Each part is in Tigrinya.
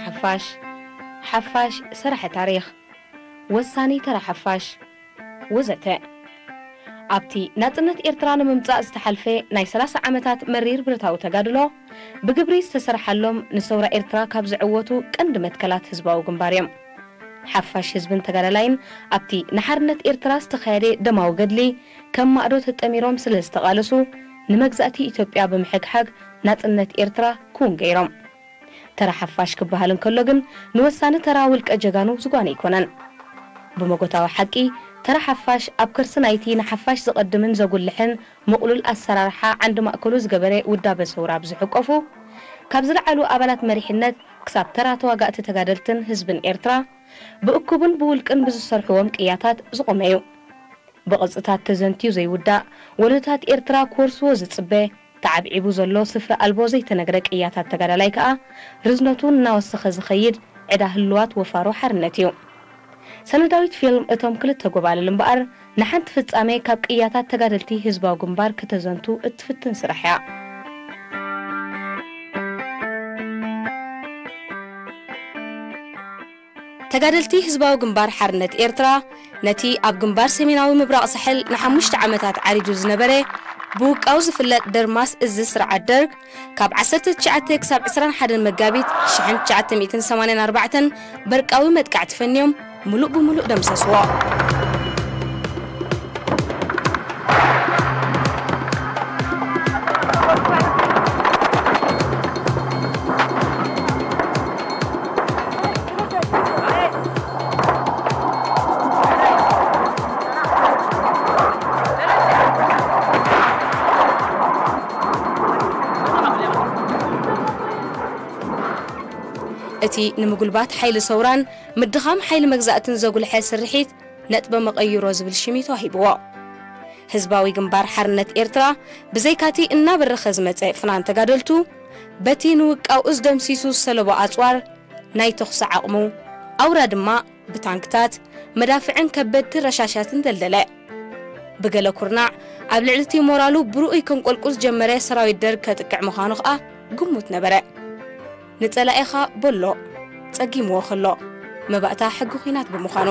ሓፋሽ፣ ሓፋሽ ሰራሒ ታሪኽ፣ ወሳኒ ተራ ሓፋሽ ወዘተ። ኣብቲ ናጽነት ኤርትራ ንምምጻእ ዝተሓልፈ ናይ ሰላሳ ዓመታት መሪር ብረታዊ ተጋድሎ፣ ብግብሪ ዝተሰርሓሎም ንሰውራ ኤርትራ ካብ ዝዕወቱ ቀንዲ መትከላት ህዝባዊ ግንባር እዮም። ሓፋሽ ህዝብን ተጋዳላይን ኣብቲ ንሓርነት ኤርትራ ዝተኻየደ ደማዊ ገድሊ ከም ማእዶ ተጠሚሮም ስለ ዝተቓለሱ፣ ንመግዛእቲ ኢትዮጵያ ብምሕግሓግ ናጽነት ኤርትራ ክውን ገይሮም። ተራ ሓፋሽ ክበሃል እንከሎ ግን፣ ንወሳኒ ተራ ውልቀ ጀጋኑ ዝጓነ ኣይኮነን። ብመጎታዊ ሓቂ፣ ተራ ሓፋሽ ኣብ ከርሲ ናይቲ ንሓፋሽ ዘቐድምን ዘጉልሕን ምቕሉል ኣሰራርሓ ዓንዲ ማእከሉ ዝገበረ ውዳበ ሰውራ ብዝሕቆፉ፣ ካብ ዝለዓሉ ኣባላት መሪሕነት ክሳብ ተራ ተዋጋእቲ ተጋደልትን ህዝብን ኤርትራ፣ ብእኩብን ብውልቅን ብዝሰርሕዎም ቅያታት ዝቖመ እዩ። ብቕርጽታት ተዘንትዩ ዘይውዳእ፣ ወለዶታት ኤርትራ ክወርስዎ ዝጽበ፣ ተዓብዒቡ ዘሎ ስፍሪ ኣልቦ ዘይተነግረ ቅያታት ተጋዳላይ ከኣ፣ ርዝነቱ እናወሰኸ ዝኸይድ ዕዳ ህሉዋት ወፋሮ ሓርነት እዩ። ሰነዳዊት ፊልም እቶም ክልተ ጎባልል እምበኣር፣ ንሓንቲ ፍጻሜ ካብ ቅያታት ተጋደልቲ ህዝባዊ ግንባር ከተዘንቱ እትፍትን ስራሕ እያ። ተጋደልቲ ህዝባዊ ግንባር ሓርነት ኤርትራ፣ ነቲ ኣብ ግንባር ሰሜናዊ ምብራቕ ሳሕል ንሓሙሽተ ዓመታት ዓሪዱ ዝነበረ፣ ብውቃው ዝፍለጥ ደርማስ እዚ ስርዓት ደርግ፣ ካብ ዓሰርተ ትሽዓተ ክሳብ ዕስራን ሓደን መጋቢት ሽሕን ትሽዓተ ሚእትን ሰማንያን ኣርባዕተን በርቃዊ መጥቃዕቲ ፈንዮም፣ ምሉእ ብምሉእ ደምሰስዎ። እቲ ንምጉልባት ሓይሊ ሰውራን ምድኻም ሓይሊ መግዛእትን ዘጉልሐ ስርሒት ነጥበ መቐይሮ ዝብል ሽም እዩ ተዋሂብዎ። ህዝባዊ ግንባር ሓርነት ኤርትራ ብዘይካቲ እናበረኸ ዝመጸ ፍናን ተጋደልቱ፣ በቲ ንውቃው እዝ ደምሲሱ ዝሰለቦ ኣጽዋር ናይ ተኹሲ ዓቕሙ፣ ኣውራ ድማ ብታንክታት፣ መዳፍዕን ከበድቲ ረሻሻትን ደልደለ። ብገለ ኩርናዕ፣ ኣብ ልዕሊ እቲ ሞራሉ ብርኡይ ከንቆልቁ ዝጀመረ ሰራዊት ደርግ ከጥቅዕ ምዃኑ ኸኣ ግሙት ነበረ። ንጸላኢኻ በሎ፣ ጸጊምዎ ከሎ፣ መባእታ ሕጊ ኲናት ብምዃኑ።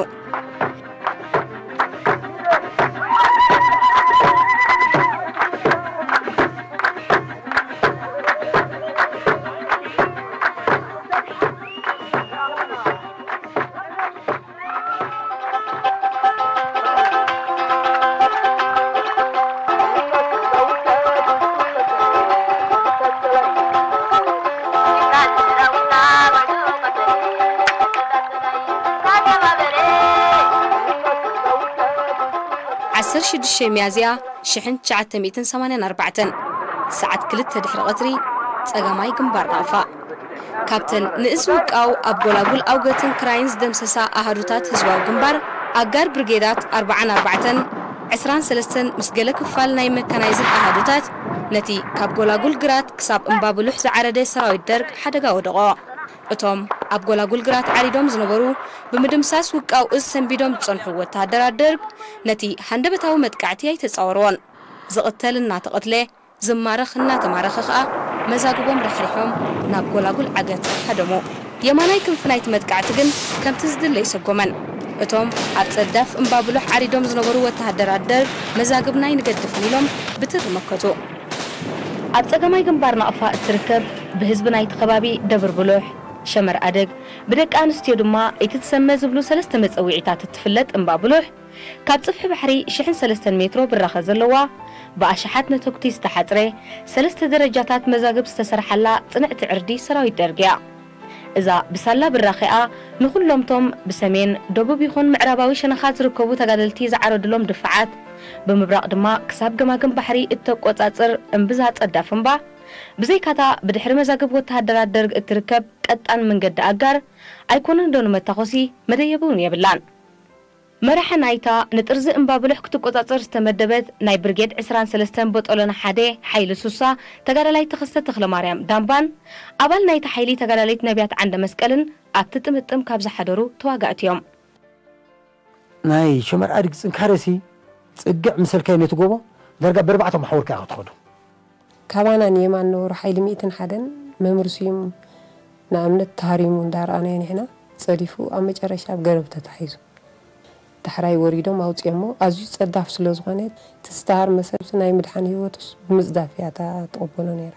ዓሰርተ ሽዱሽተ ሚያዝያ ሽሕን ትሽዓተ ሚእትን ሰማንያን ኣርባዕተን፣ ሰዓት ክልተ ድሕሪ ቀትሪ፣ ጸጋማይ ግንባር ናቕፋ። ካብተን ንእዝ ውቃው ኣብ ጎላጉል ኣውገትን ክራይን ዝደምሰሳ ኣሃዱታት ህዝባዊ ግንባር፣ ኣጋር ብርጌዳት ኣርብዓን ኣርባዕተን፣ ዕስራን ሰለስተን ምስ ገለ ክፋል ናይ መካናይዝድ ኣሃዱታት፣ ነቲ ካብ ጎላጉል ግራት ክሳብ እምባብሉሕ ዝዓረደ ሰራዊት ደርግ ሓደጋ ወደቖ። እቶም ኣብ ጎላጉል ግራት ዓሪዶም ዝነበሩ፣ ብምድምሳስ ውቃው እዝ ሰንቢዶም ዝጸንሑ ወተሃደራት ደርግ፣ ነቲ ሃንደበታዊ መጥቃዕቲ ኣይተጻወርዎን። ዝቕተል እናተቐትለ፣ ዝማረኽ እናተማረኸ ኸኣ መዛግቦም ራሕሪሖም ናብ ጎላጉል ዓገት ሃደሙ። የማናይ ክንፊ ናይቲ መጥቃዕቲ ግን ከምቲ ዝድለ ኣይሰጎመን። እቶም ኣብ ጸዳፍ እምባብሉሕ ዓሪዶም ዝነበሩ ወተሃደራት ደርግ መዛግብና ኣይንገድፍን ኢሎም ብትሪ መከቱ። ኣብ ጸጋማይ ግንባር ናቕፋ እትርከብ ብህዝቢ ናይቲ ከባቢ ደብር ብሉሕ፣ ሸመር ኣደግ፣ ብደቂ ኣንስትዮ ድማ ኢትትሰመ ዝብሉ ሰለስተ መጸውዒታት እትፍለጥ እምባብሉሕ፣ ካብ ጽፍሒ ባሕሪ ሽሕን ሰለስተን ሜትሮ ብራኸ ዘለዋ፣ ብኣሽሓት ነተጉቲ ዝተሓጽረ፣ ሰለስተ ደረጃታት መዛግብ ዝተሰርሓላ ጽንዕቲ ዕርዲ ሰራዊት ደርግ እያ። እዛ ብሳላ ብራኸኣ ንኹሎምቶም ብሰሜን፣ ደቡብ ይኹን ምዕራባዊ ሸነኻ ዝርከቡ ተጋደልቲ ዝዓረዱሎም ድፋዓት፣ ብምብራቕ ድማ ክሳብ ገማግም ባሕሪ እተቆጻጽር እምብዛ ጸዳፍ እምባ፣ ብዘይካታ ብድሕሪ መዛግብ ወተሃደራት ደርግ እትርከብ ቀጣን መንገዲ ኣጋር፣ ኣይኮነን ዶ ንመታኾሲ መደየቢ እውን የብላን። መራሒ ናይታ ንጥርዚ እምባብሉሕ ክትቆጻጸር ዝተመደበት ናይ ብርጌድ ዕስራን ሰለስተን ቦጦሎን ሓደ ሓይሊ ሱሳ ተጋዳላይ ተኸስተ ተኽለማርያም ዳምባን ኣባል ናይቲ ሓይሊ ተጋዳሊት ነቢያት ዓንደ መስቀልን ኣብቲ ጥምጥም ካብ ዝሓደሩ ተዋጋእቲ እዮም። ናይ ሸመር ኣድግ ጽንካረሲ ጽግዕ ምሰልካይ ነቲ ጎቦ ዳርጋ በርባዕተ መሓውርካ ኢኻ ትኸዶ። ካባና ንየማን ነበሩ ሓይሊ ሚእትን ሓደን መምህር ስዩም ንኣብነት ተሃሪሙ እንዳረኣናዮ ንሕና፣ ጸዲፉ ኣብ መጨረሻ ኣብ ገረብ ተታሒዙ። ዳሕራይ ወሪዶም ኣውጺኦሞ። ኣዝዩ ጸዳፍ ስለ ዝኾነ፣ እቲ ዝተሃርመ ሰብሲ ናይ ምድሓን ህይወቱስ ብምጽዳፍ እያ እታ ትቕበሎ ነይራ።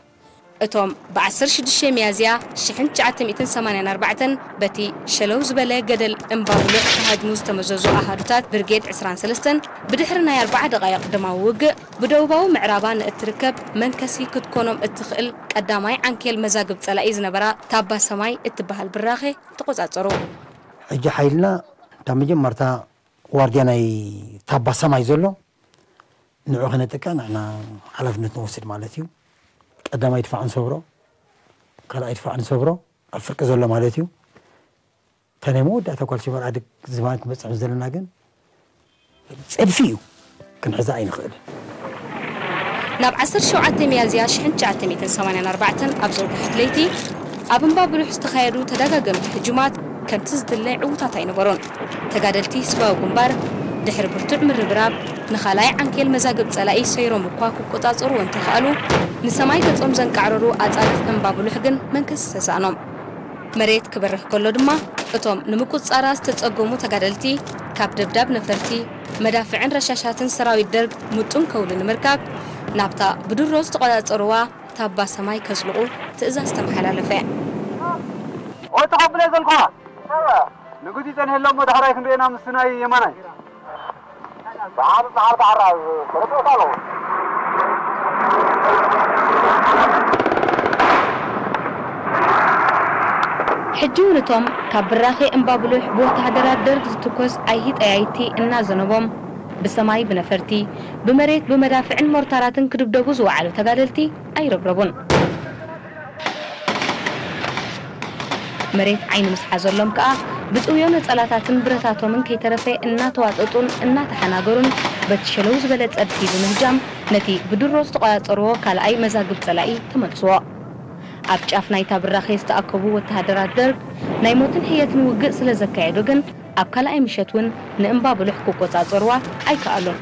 እቶም ብ ዓሰርተ ሽዱሽተ ሚያዝያ ሽሕን ትሽዓተ ሚእትን ሰማንያን ኣርባዕተን በቲ ሸለው ዝበለ ገደል እምባ ብሉዕ ተሃድሙ ዝተመዘዙ ኣሃዱታት ብርጌድ ዕስራን ሰለስተን፣ ብድሕሪ ናይ ኣርብዓ ደቓይቕ ደማዊ ውግእ፣ ብደቡባዊ ምዕራባ ንእትርከብ መንከሲ ክትኮኖም እትኽእል ቀዳማይ ዓንኬል መዛግብ ጸላኢ ዝነበራ ታባ ሰማይ እትበሃል ብራኸ ተቖጻጸሩ። ሕጂ ሓይልና እታ መጀመርታ ዋርድያ ናይ ታባ ሰማይ ዘሎ ንዑ ከነጥቅዕ ንሕና ሓላፍነት ንወስድ ማለት እዩ። ቀዳማይ ድፋዕ ንሰብሮ፣ ካልኣይ ድፋዕ ንሰብሮ ኣብ ፍርቂ ዘሎ ማለት እዩ። እታ ናይ መወዳእታ ጓል ሽበር ኣድግ ዝባን ክመጽዕ ምስ ዘለና ግን ጸድፊ እዩ፣ ክንሕዛ ኣይንኽእልን። ናብ ዓሰርተ ሸውዓተ ሚያዝያ ሽሕን ትሽዓተ ሚእትን ሰማንያን ኣርባዕተን ኣብ ዘውግሐት ለይቲ፣ ኣብ እምባ ብሉሕ ዝተኻየዱ ተደጋገምቲ ህጁማት ከምቲ ዝድለ ዕዉታት ኣይነበሩን። ተጋደልቲ ህዝባዊ ግንባር፣ ድሕሪ ብርቱዕ ምርብራብ፣ ንኻልኣይ ዓንኬል መዛግብ ጸላኢ ሰይሮም እኳ ክቆጻጸሩ እንተኸኣሉ፣ ንሰማይ ገጾም ዘንቃዕረሩ ኣጻድፍ እምባ ብሉሕ ግን መንከስ ዝተሳእኖም። መሬት ክበርህ ከሎ ድማ፣ እቶም ንምቁጽጻራ ዝተጸገሙ ተጋደልቲ፣ ካብ ደብዳብ ነፈርቲ፣ መዳፍዕን ረሻሻትን ሰራዊት ደርግ ምጡን ከውሊ ንምርካብ፣ ናብታ ብድሮ ዝተቆጻጸርዋ ታባ ሰማይ ከዝልቑ ትእዛዝ ተመሓላለፈ። ኦይ፣ ተቐብለ ዘልኳ። ንጉዚ ጸንሔሎም፣ ዳሕራይ ክንርእየና ምስ ናይ የማናይ። ሕጂ እውን እቶም ካብ ብራኸ እምባ ብሉሕ ብወተሃደራት ደርግ ዝትኮስ ኣይሂ ጠያይቲ እናዘነቦም፣ ብሰማይ ብነፈርቲ፣ ብመሬት ብመዳፍዕን ሞርታራትን ክድብደቡ ዝወዓሉ ተጋደልቲ ኣይረብረቡን። መሬት ዓይኒ ምስ ሓዘሎም ከኣ፣ ብጥውዮ ነጸላታትን ብረታቶምን ከይተረፈ እናተዋጠጡን እናተሓናገሩን፣ በቲ ሸለው ዝበለ ጸድፊ ብምህጃም፣ ነቲ ብድሮ ዝተቖጻጸርዎ ካልኣይ መዛግብ ጸላኢ ተመልስዎ። ኣብ ጫፍ ናይታ ብራኸ ዝተኣከቡ ወተሃደራት ደርግ፣ ናይ ሞትን ሕየትን ውግእ ስለ ዘካየዱ ግን፣ ኣብ ካልኣይ ምሸት እውን ንእምባ ብሉሕ ክቆጻጸርዋ ኣይከኣሉን።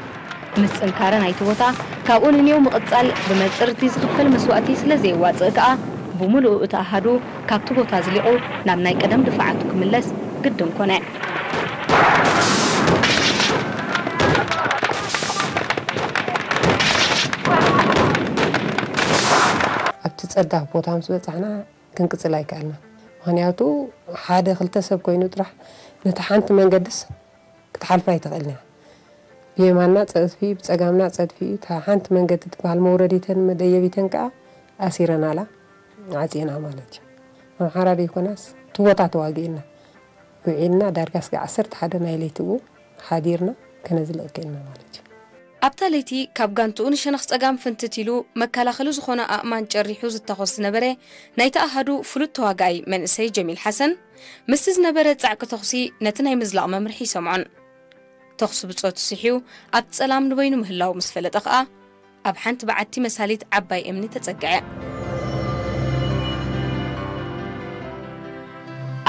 ምስ ጽንካረ ናይቲ ቦታ ካብኡ ንኔው ምቕጻል ብመጽርቲ ዝኽፈል መስዋእቲ ስለ ዘየዋጽእ ከኣ፣ ብምሉኡ እቲ ኣሃዱ ካብቲ ቦታ ኣዝሊቑ ናብ ናይ ቀደም ድፋዓቱ ክምለስ ግድን ኮነ። ኣብቲ ጸዳፍ ቦታ ምስ በጻሕና፣ ክንቅጽል ኣይከኣልናን። ምኽንያቱ፣ ሓደ ክልተ ሰብ ኮይኑ ጥራሕ ነታ ሓንቲ መንገድስ ክትሓልፋ ኣይትኽእልን እያ። ብየማንና ጸድፊ፣ ብጸጋምና ጸድፊ እዩ። እታ ሓንቲ መንገዲ ትበሃል መውረዲተን መደየቢተን ከኣ ኣሲረናላ፣ ዓጺና ማለት እዩ። ኣምሓራ ደይኮናስ፣ እቲ ቦታ ተዋጊእና ውዒልና፣ ዳርጋ ስጋዕ ዓሰርተ ሓደ ናይ ለይቲ ብኡ ሓዲርና፣ ከነዝልቕ ክኢልና ማለት እዩ። ኣብታ ለይቲ ካብ ጋንትኡ ንሸነኽ ጸጋም ፍንትት ኢሉ መከላኸሊ ዝኾነ ኣእማን ጨሪሑ ዝተኾስ ዝነበረ ናይቲ ኣሃዱ ፍሉጥ ተዋጋኣይ መንእሰይ ጀሚል ሓሰን፣ ምስቲ ዝነበረ ጻዕቂ ተኹሲ ነቲ ናይ ምዝላቕ መምርሒ ይሰምዖን። ተኹሲ ብጾቱ ስሕዩ ኣብቲ ጸላም ንበይኑ ምህላው ምስ ፈለጠ ኸኣ፣ ኣብ ሓንቲ በዓቲ መሳሊት ዓባይ እምኒ ተጸግዐ።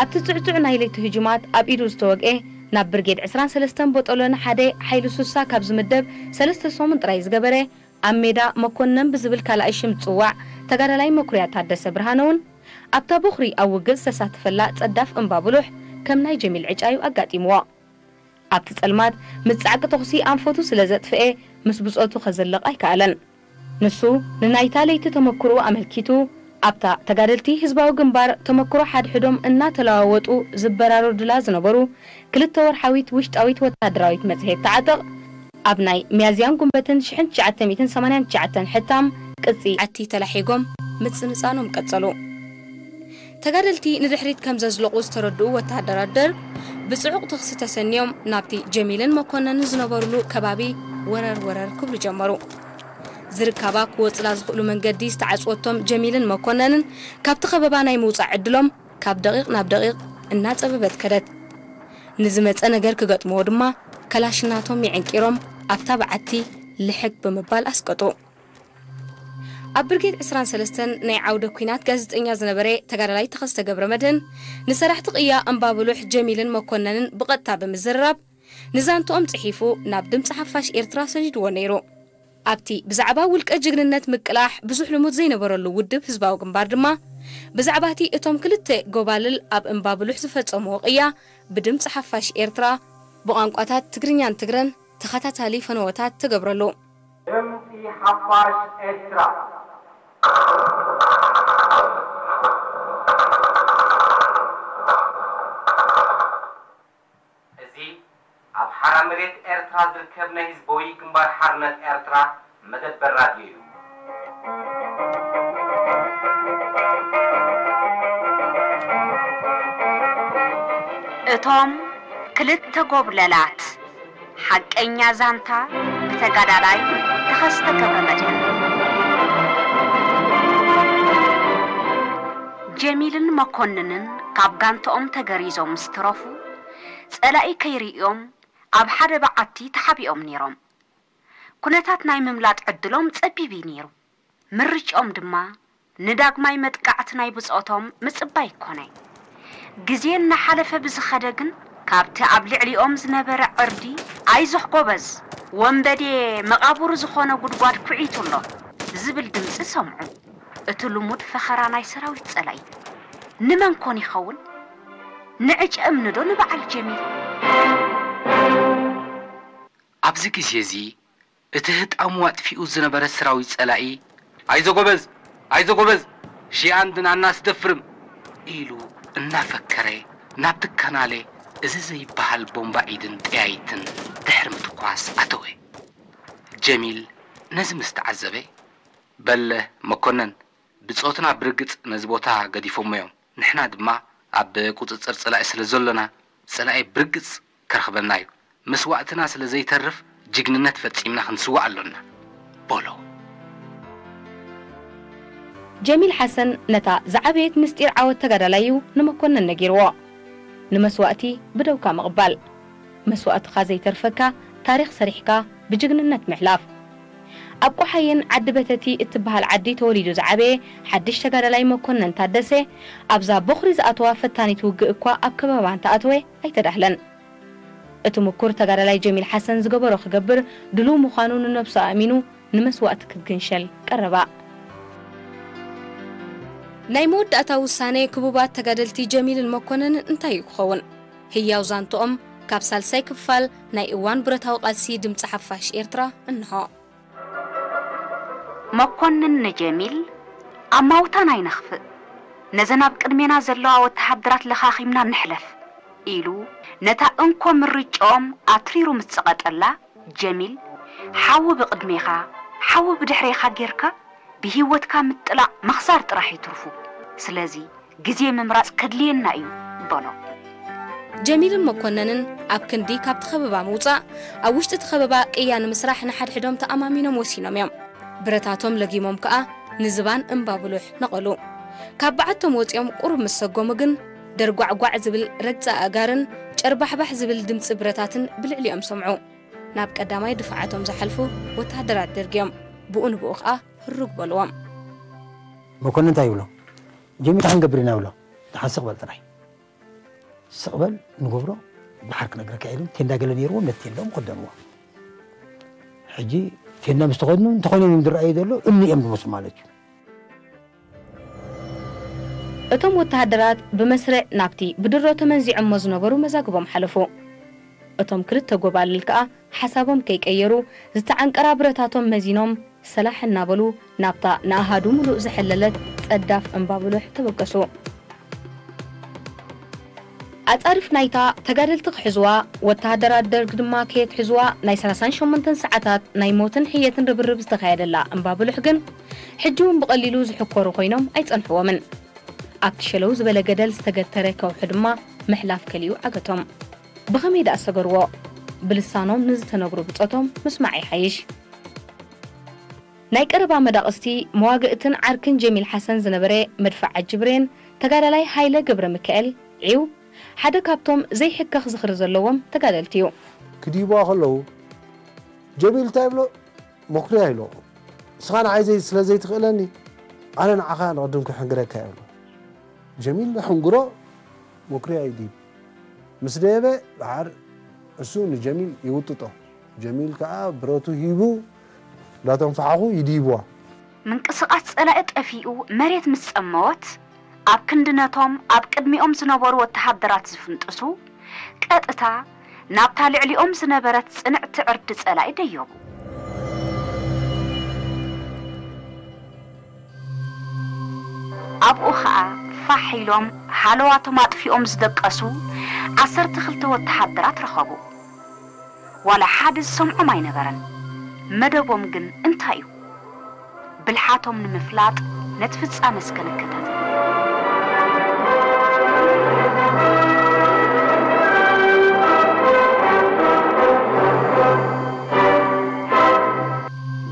ኣብቲ ጽዕጹዕ ናይ ለይቲ ህጁማት ኣብ ኢዱ ዝተወግኤ፣ ናብ ብርጌድ ዕስራን ሰለስተን ቦጦሎኒ ሓደ ሓይሊ ሱሳ ካብ ዝምደብ ሰለስተ ሰሙን ጥራይ ዝገበረ፣ ኣብ ሜዳ መኮነን ብዝብል ካልኣይ ሽም ዝጽዋዕ ተጋዳላይ መኩርያ ታደሰ ብርሃነ እውን፣ ኣብታ ቦኽሪ ኣብ ውግእ ዝተሳተፈላ ጸዳፍ እምባ ብሉሕ ከም ናይ ጀሚል ዕጫዩ ኣጋጢምዎ። ኣብቲ ጸልማት ምስ ጻዕቂ ተኹሲ ኣንፈቱ ስለ ዘጥፍኤ፣ ምስ ብጾቱ ከዘልቕ ኣይከኣለን። ንሱ ንናይታ ለይቲ ተመክሮኡ ኣመልኪቱ፣ ኣብታ ተጋደልቲ ህዝባዊ ግንባር ተመክሮ ሓድሕዶም እናተለዋወጡ ዝበራረዱላ ዝነበሩ ክልተ ወርሓዊት ውሽጣዊት ወተሃደራዊት መጽሔት ተዓጠቕ፣ ኣብ ናይ ሚያዝያን ጉንበትን ሽሕን ትሽዓተ ሚእትን ሰማንያን ትሽዓተን ሕታም ቅጺ ዓቲ ተላሒጎም ምጽንጻኖም ቀጸሉ። ተጋደልቲ ንድሕሪት ከም ዘዝለቑ ዝተረድኡ ወተሃደራት ደርግ፣ ብጽዑቕ ተኽሲ ተሰንዮም ናብቲ ጀሚልን መኮነንን ዝነበሩሉ ከባቢ ወረር ወረር ክብሉ ጀመሩ። ዝርካባ ክወጽላ ዝኽእሉ መንገዲ ዝተዓጽወቶም ጀሚልን መኮነንን፣ ካብቲ ከበባ ናይ ምውጻእ ዕድሎም ካብ ደቒቕ ናብ ደቒቕ እናጸበበት ከደት። ንዝመጸ ነገር ክገጥምዎ ድማ፣ ከላሽናቶም የዕንቂሮም ኣብታ በዓቲ ልሕግ ብምባል ኣስቀጡ። ኣብ ብርጌድ ዕስራን ሰለስተን ናይ ዓውደ ኲናት ጋዜጠኛ ዝነበረ ተጋዳላይ ተኸስተ ገብረመድህን፣ ንሰራሕቲ ቅያ እምባብሉሕ ጀሚልን መኮነንን ብቐጥታ ብምዝርራብ፣ ንዛንትኦም ጽሒፉ ናብ ድምጺ ሓፋሽ ኤርትራ ሰዲድዎ ነይሩ። ኣብቲ ብዛዕባ ውልቀ ጅግንነት ምቅላሕ ብዙሕ ልሙድ ዘይነበረሉ ውድብ ህዝባዊ ግንባር ድማ፣ ብዛዕባቲ እቶም ክልተ ጎባልል ኣብ እምባ ብሉሕ ዝፈጸምዎ ቅያ፣ ብድምጺ ሓፋሽ ኤርትራ፣ ብቋንቋታት ትግርኛን ትግረን ተኸታታሊ ፈነወታት ትገብረሉ። ድምጺ ሓፋሽ ኤርትራ። እዚ ኣብ ሓራ መሬት ኤርትራ ዝርከብ ናይ ህዝባዊ ግንባር ሓርነት ኤርትራ መደበር ራድዮ እዩ። እቶም ክልተ ጎብለላት። ሓቀኛ ዛንታ ብተጋዳላይ ተኸስተ ገብረመድህን። ጀሚልን መኮንንን ካብ ጋንትኦም ተገሪዞም ምስ ተረፉ፣ ጸላኢ ከይርእዮም ኣብ ሓደ በዓቲ ተሓቢኦም ነይሮም። ኩነታት ናይ ምምላጥ ዕድሎም ጸቢብ እዩ ነይሩ። ምርጭኦም ድማ ንዳግማይ መጥቃዕቲ ናይ ብጾቶም ምጽባይ ኮነ። ግዜ እናሓለፈ ብዝኸደ ግን፣ ካብቲ ኣብ ልዕሊኦም ዝነበረ ዕርዲ፣ "ኣይዞኽ ጎበዝ፣ ወንበዴ መቓብሩ ዝኾነ ጉድጓድ ኩዒቱ ኣሎ" ዝብል ድምጺ ሰምዑ። እቲ ልሙድ ፈኸራ ናይ ሰራዊት ጸላኢ። ንመን ኮን ይኸውን? ንዕጨ እምኒ ዶ ንበዓል ጀሚል? ኣብዚ ግዜ እዚ፣ እቲ ህጣሙ ኣጥፊኡ ዝነበረ ሰራዊት ጸላኢ፣ "ኣይዞ ጎበዝ፣ ኣይዞ ጎበዝ፣ ሺኣን ድናና ኣስደፍርም" ኢሉ እናፈከረ ናብቲ ካናለ እዚ ዘይበሃል ቦምባ ኢድን ጠያይትን ድሕሪ ምትኳስ ኣተወ። ጀሚል ነዚ ምስ ተዓዘበ፣ "በለ መኮነን፣ ብጾትና ብርግጽ ነዚ ቦታ ገዲፎሞ እዮም። ንሕና ድማ ኣብ ቁጽጽር ጸላኢ ስለ ዘሎና፣ ጸላኢ ብርግጽ ከርኽበና እዩ። መስዋእትና ስለ ዘይተርፍ፣ ጅግንነት ፈጺምና ክንስዋእ ኣሎና" በሎ። ጀሚል ሓሰን ነታ ዝዓበየት ምስጢር ዓወት ተጋዳላዩ ንመኮነን ነጊርዎ። ንመስዋእቲ ብደውካ ምቕባል። መስዋእትኻ ዘይተርፈካ ታሪኽ ሰሪሕካ ብጅግንነት ምሕላፍ። ኣብ ቆሓይን ዓዲ በተቲ እትበሃል ዓዲ ተወሊዱ ዝዓበየ ሓድሽ ተጋዳላይ መኮነን ታደሰ፣ ኣብዛ ቦኽሪ ዝኣተዋ ፈታኒት ውግእ እኳ ኣብ ከበባ እንተኣተወ ኣይተዳህለን። እቲ ምኩር ተጋዳላይ ጀሚል ሓሰን ዝገበሮ ክገብር ድሉው ምዃኑ ንነብሱ ኣእሚኑ ንመስዋእቲ ክግንሸል ቀረባ። ናይ መወዳእታ ውሳነ ክቡባት ተጋደልቲ ጀሚልን መኮነንን እንታይ እዩ ክኸውን? ህያው ዛንትኦም ካብ ሳልሳይ ክፋል ናይ እዋን ብረታዊ ቃልሲ ድምጺ ሓፋሽ ኤርትራ እንሆ። መኮንን ንጀሚል፣ "ኣማውታን ኣይነኽፍእ፣ ነዘን ኣብ ቅድሜና ዘለዋ ወተሃደራት ለኻኺምና ንሕለፍ" ኢሉ ነታ እንኮ ምርጭኦም ኣትሪሩ ምስ ጸቐጠላ፣ ጀሚል፣ "ሓዊ ብቕድሜኻ፣ ሓዊ ብድሕሬኻ ጌርካ ብህይወትካ ምጥላቕ ምኽሳር ጥራሕ እዩ ትርፉ። ስለዚ ግዜ ምምራጽ ከድልየና እዩ" በሎ። ጀሚልን መኮነንን ኣብ ክንዲ ካብቲ ከበባ ምውጻእ፣ ኣብ ውሽጢ እቲ ከበባ ቅያ ንምስራሕ ንሓድሕዶም ተኣማሚኖም ወሲኖም እዮም። ብረታቶም ለጊሞም ከኣ ንዝባን እምባ ብሉሕ ነቐሉ። ካብ በዓቶም ወጺኦም ቁሩብ ምስ ሰጎሙ ግን፣ ደርጓዕጓዕ ዝብል ረግጻ ኣእጋርን ጨርባሕባሕ ዝብል ድምጺ ብረታትን ብልዕሊኦም ሰምዑ። ናብ ቀዳማይ ድፋዓቶም ዝሓልፉ ወተሃደራት ደርግ እዮም። ብኡ ንብኡ ከኣ ህሩግ በልዎም። መኮንን እንታይ ይብሎ? ጀሚል እንታይ ክንገብር ኢና ይብሎ። ደሓን ስቕ በል ጥራይ። ስቕ በል ንገብሮ፣ ደሓር ክነግረካ ኢሉ ቴንዳ ገለ ነይርዎም፣ ነቲ ቴንዳኦም ከደንዎ። ሕጂ ቴንዳ ምስ ተኸድኑ፣ እንተኾይኖም እዮም ዝረኣዩ ዘሎ፣ እምኒ እዮም ዝመስሉ ማለት እዩ። እቶም ወተሃደራት ብመስርዕ ናብቲ ብድሮ ተመንዚዖሞ ዝነበሩ መዛግቦም ሓለፉ። እቶም ክልተ ጎባልል ከኣ ሓሳቦም ከይቀየሩ ዝተዓንቀራ ብረታቶም መዚኖም ሰላሕ እናበሉ ናብታ ንኣሃዱ ምሉእ ዝሐለለት ጸዳፍ እምባ ብሉሕ ተበገሱ። ኣጻርፍ ናይታ ተጋደልቲ ክሕዝዋ፣ ወተሃደራት ደርግ ድማ ከየትሕዝዋ ናይ ሰላሳን ሸሞንተን ሰዓታት ናይ ሞትን ሕየትን ርብርብ ዝተኻየደላ እምባ ብሉሕ ግን ሕጂ እውን ብቐሊሉ ዝሕኮሩ ኮይኖም ኣይጸንሕዎምን። ኣብቲ ሸለው ዝበለ ገደል ዝተገተረ ከውሒ ድማ ምሕላፍ ከሊኡ ዓገቶም። ብኸመይ ደኣ ሰገርዎ? ብልሳኖም ንዝተነግሩ ብጾቶም ምስማዕ ይሓይሽ። ናይ ቀረባ መዳቕስቲ መዋግእትን ዓርክን ጀሚል ሓሰን ዝነበረ መድፍዓጂ ብሬን ተጋዳላይ ሃይለ ገብረሚካኤል ዒው ሓደ ካብቶም ዘይሕከኽ ዝኽሪ ዘለዎም ተጋደልቲ እዩ። ክድይብዋ ከለዉ ጀሚል እንታይ ይብሎ? መኩርያ ኢሎ። ንስኻ ንዓይ ዘይ ስለ ዘይትኽእለኒ ኣነ ንዓኻ ንቕድም ክሕንግረካ ይብሎ። ጀሚል ሕንግሮ መኩርያ ይድይብ። ምስ ደየበ ደሓር እሱ ንጀሚል ይውጥጦ። ጀሚል ከኣ ብረቱ ሂቡ እንዳተንፈሓኹ ይድይብዋ። ምንቅስቓስ ጸላኢ ጠፊኡ መሬት ምስ ጸመወት፣ ኣብ ክንዲ ነቶም ኣብ ቅድሚኦም ዝነበሩ ወተሃደራት ዝፍንጥሱ፣ ቀጥታ ናብታ ልዕሊኦም ዝነበረት ጽንዕቲ ዕርዲ ጸላኢ ደየቡ። ኣብኡ ኸኣ ፋሕ ኢሎም ሃለዋቶም ኣጥፊኦም ዝደቀሱ ዓሰርተ ክልተ ወተሃደራት ረኸቡ። ዋላ ሓደ ዝሰምዖም ኣይነበረን። መደቦም ግን እንታይ እዩ? ብልሓቶም ንምፍላጥ ነቲ ፍጻመ እስከ ንከታተል።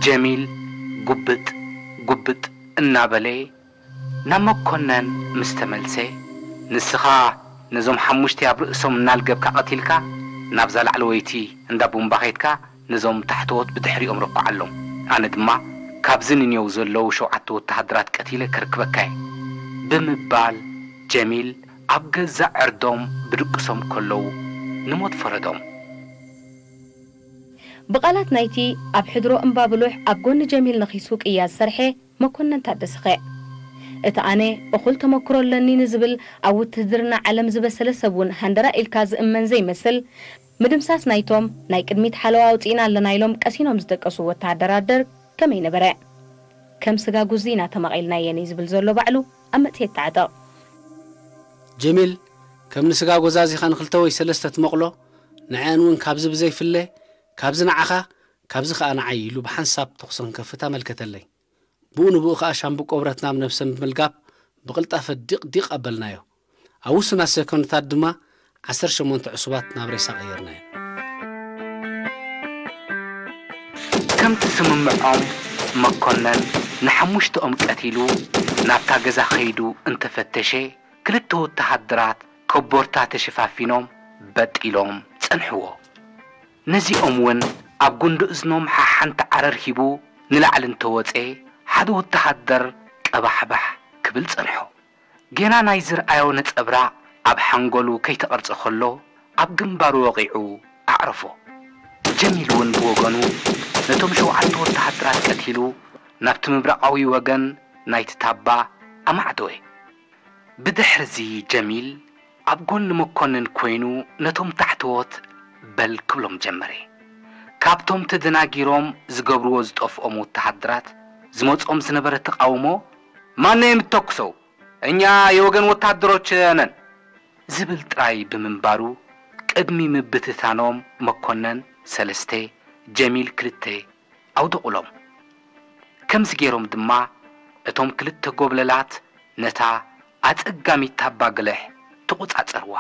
ጀሚል ጉብጥ ጉብጥ እናበለ ናብ መኮነን ምስ ተመልሰ፣ ንስኻ ነዞም ሓሙሽተ ኣብ ርእሶም እናልገብካ ቀቲልካ፣ ናብዛ ላዕለወይቲ እንዳ ቡምባ ኸይድካ ነዞም ታሕተዎት ብድሕሪኦም ርኳዓሎም። ኣነ ድማ ካብዚ ንኔው ዘለዉ ሸውዓተ ወተሃደራት ቀቲለ ክርክበካ እየ ብምባል ጀሚል ኣብ ገዛእ ዕርዶም ብድቅሶም ከለዉ ንሞት ፈረዶም። ብቓላት ናይቲ ኣብ ሕድሮ እምባብሉሕ ኣብ ጎኒ ጀሚል ነኺሱ ቅያ ዝሰርሐ መኮነን ታደሰኸ። እቲ ኣነ እኹል ተመክሮ ኣለኒ ንዝብል ኣብ ውትህድርና ዓለም ዝበሰለ ሰብ እውን ሃንደራ ኢልካ ዝእመን ዘይመስል፣ ምድምሳስ ናይቶም ናይ ቅድሚት ሓለዋ ኣውጺእና ኣለና ኢሎም ቀሲኖም ዝደቀሱ ወተሃደራት ደርግ ከመይ ነበረ? ከም ስጋ ጉዚ ኢና ተመቒልናየን እዩ ዝብል ዘሎ ባዕሉ ኣብ መጽሔት ተዓጠቕ። ጀሚል ከም ንስጋ ጎዛዚኻ ንክልተ ወይ ሰለስተ ትመቕሎ፣ ንዐኣን እውን ካብዚ ብዘይፍለ፣ ካብዚ ንዓኻ፣ ካብዚ ከኣ ንዓይ ኢሉ ብሓንሳብ ተኹሲ ክንከፍት ኣመልከተለይ። ብኡ ንብኡ ከኣ ሻምብቆ ብረት ናብ ነብሰን ብምልጋብ ብቕልጣፈ ዲቕ ዲቕ ኣበልናዮ። ኣብ ውሱናት ሰኮንድታት ድማ ዓሰርተ ሸሞንተ ዕሱባት ናብ ሬሳ ቀየርናየን። ከምቲ ስምምዖም መኮነን ንሓሙሽተኦም ቀቲሉ ናብታ ገዛ ከይዱ እንተፈተሸ ክልተ ወተሃደራት ኮቦርታ ተሸፋፊኖም በጢሎም ጸንሕዎ። ነዚኦም እውን ኣብ ጉንዲ እዝኖም ሓሓንቲ ዓረር ሂቡ ንላዕሊ እንተወጸ ሓደ ወተሃደር ቀባሕባሕ ክብል ጸንሖ። ጌና ናይ ዝርኣዮ ነጸብራቕ ኣብ ሓንጎሉ ከይተቐርጸ ከሎ ኣብ ግንባሩ ወቒዑ ኣዕረፎ። ጀሚል እውን ብወገኑ ነቶም ሸውዓተ ወተሃደራት ቀቲሉ ናብቲ ምብራቓዊ ወገን ናይቲ ታባ ኣማዕደወ። ብድሕርዚ ጀሚል ኣብ ጎኒ መኮንን ኮይኑ ነቶም ታሕተዎት በል ክብሎም ጀመረ። ካብቶም ተደናጊሮም ዝገብርዎ ዝጠፍኦም ወተሃደራት ዝመጾም ዝነበረ ተቓውሞ ማነየም ተኩሰው እኛ የወገን ወታደሮች ነን ዝብል ጥራይ ብምንባሩ ቅድሚ ምብትታኖም መኮነን ሰለስተ ጀሚል ክልተ ኣውደቑሎም። ከምዚ ገይሮም ድማ እቶም ክልተ ጎብለላት ነታ ኣጸጋሚት ታባ ግልሕ ተቖጻጸርዋ።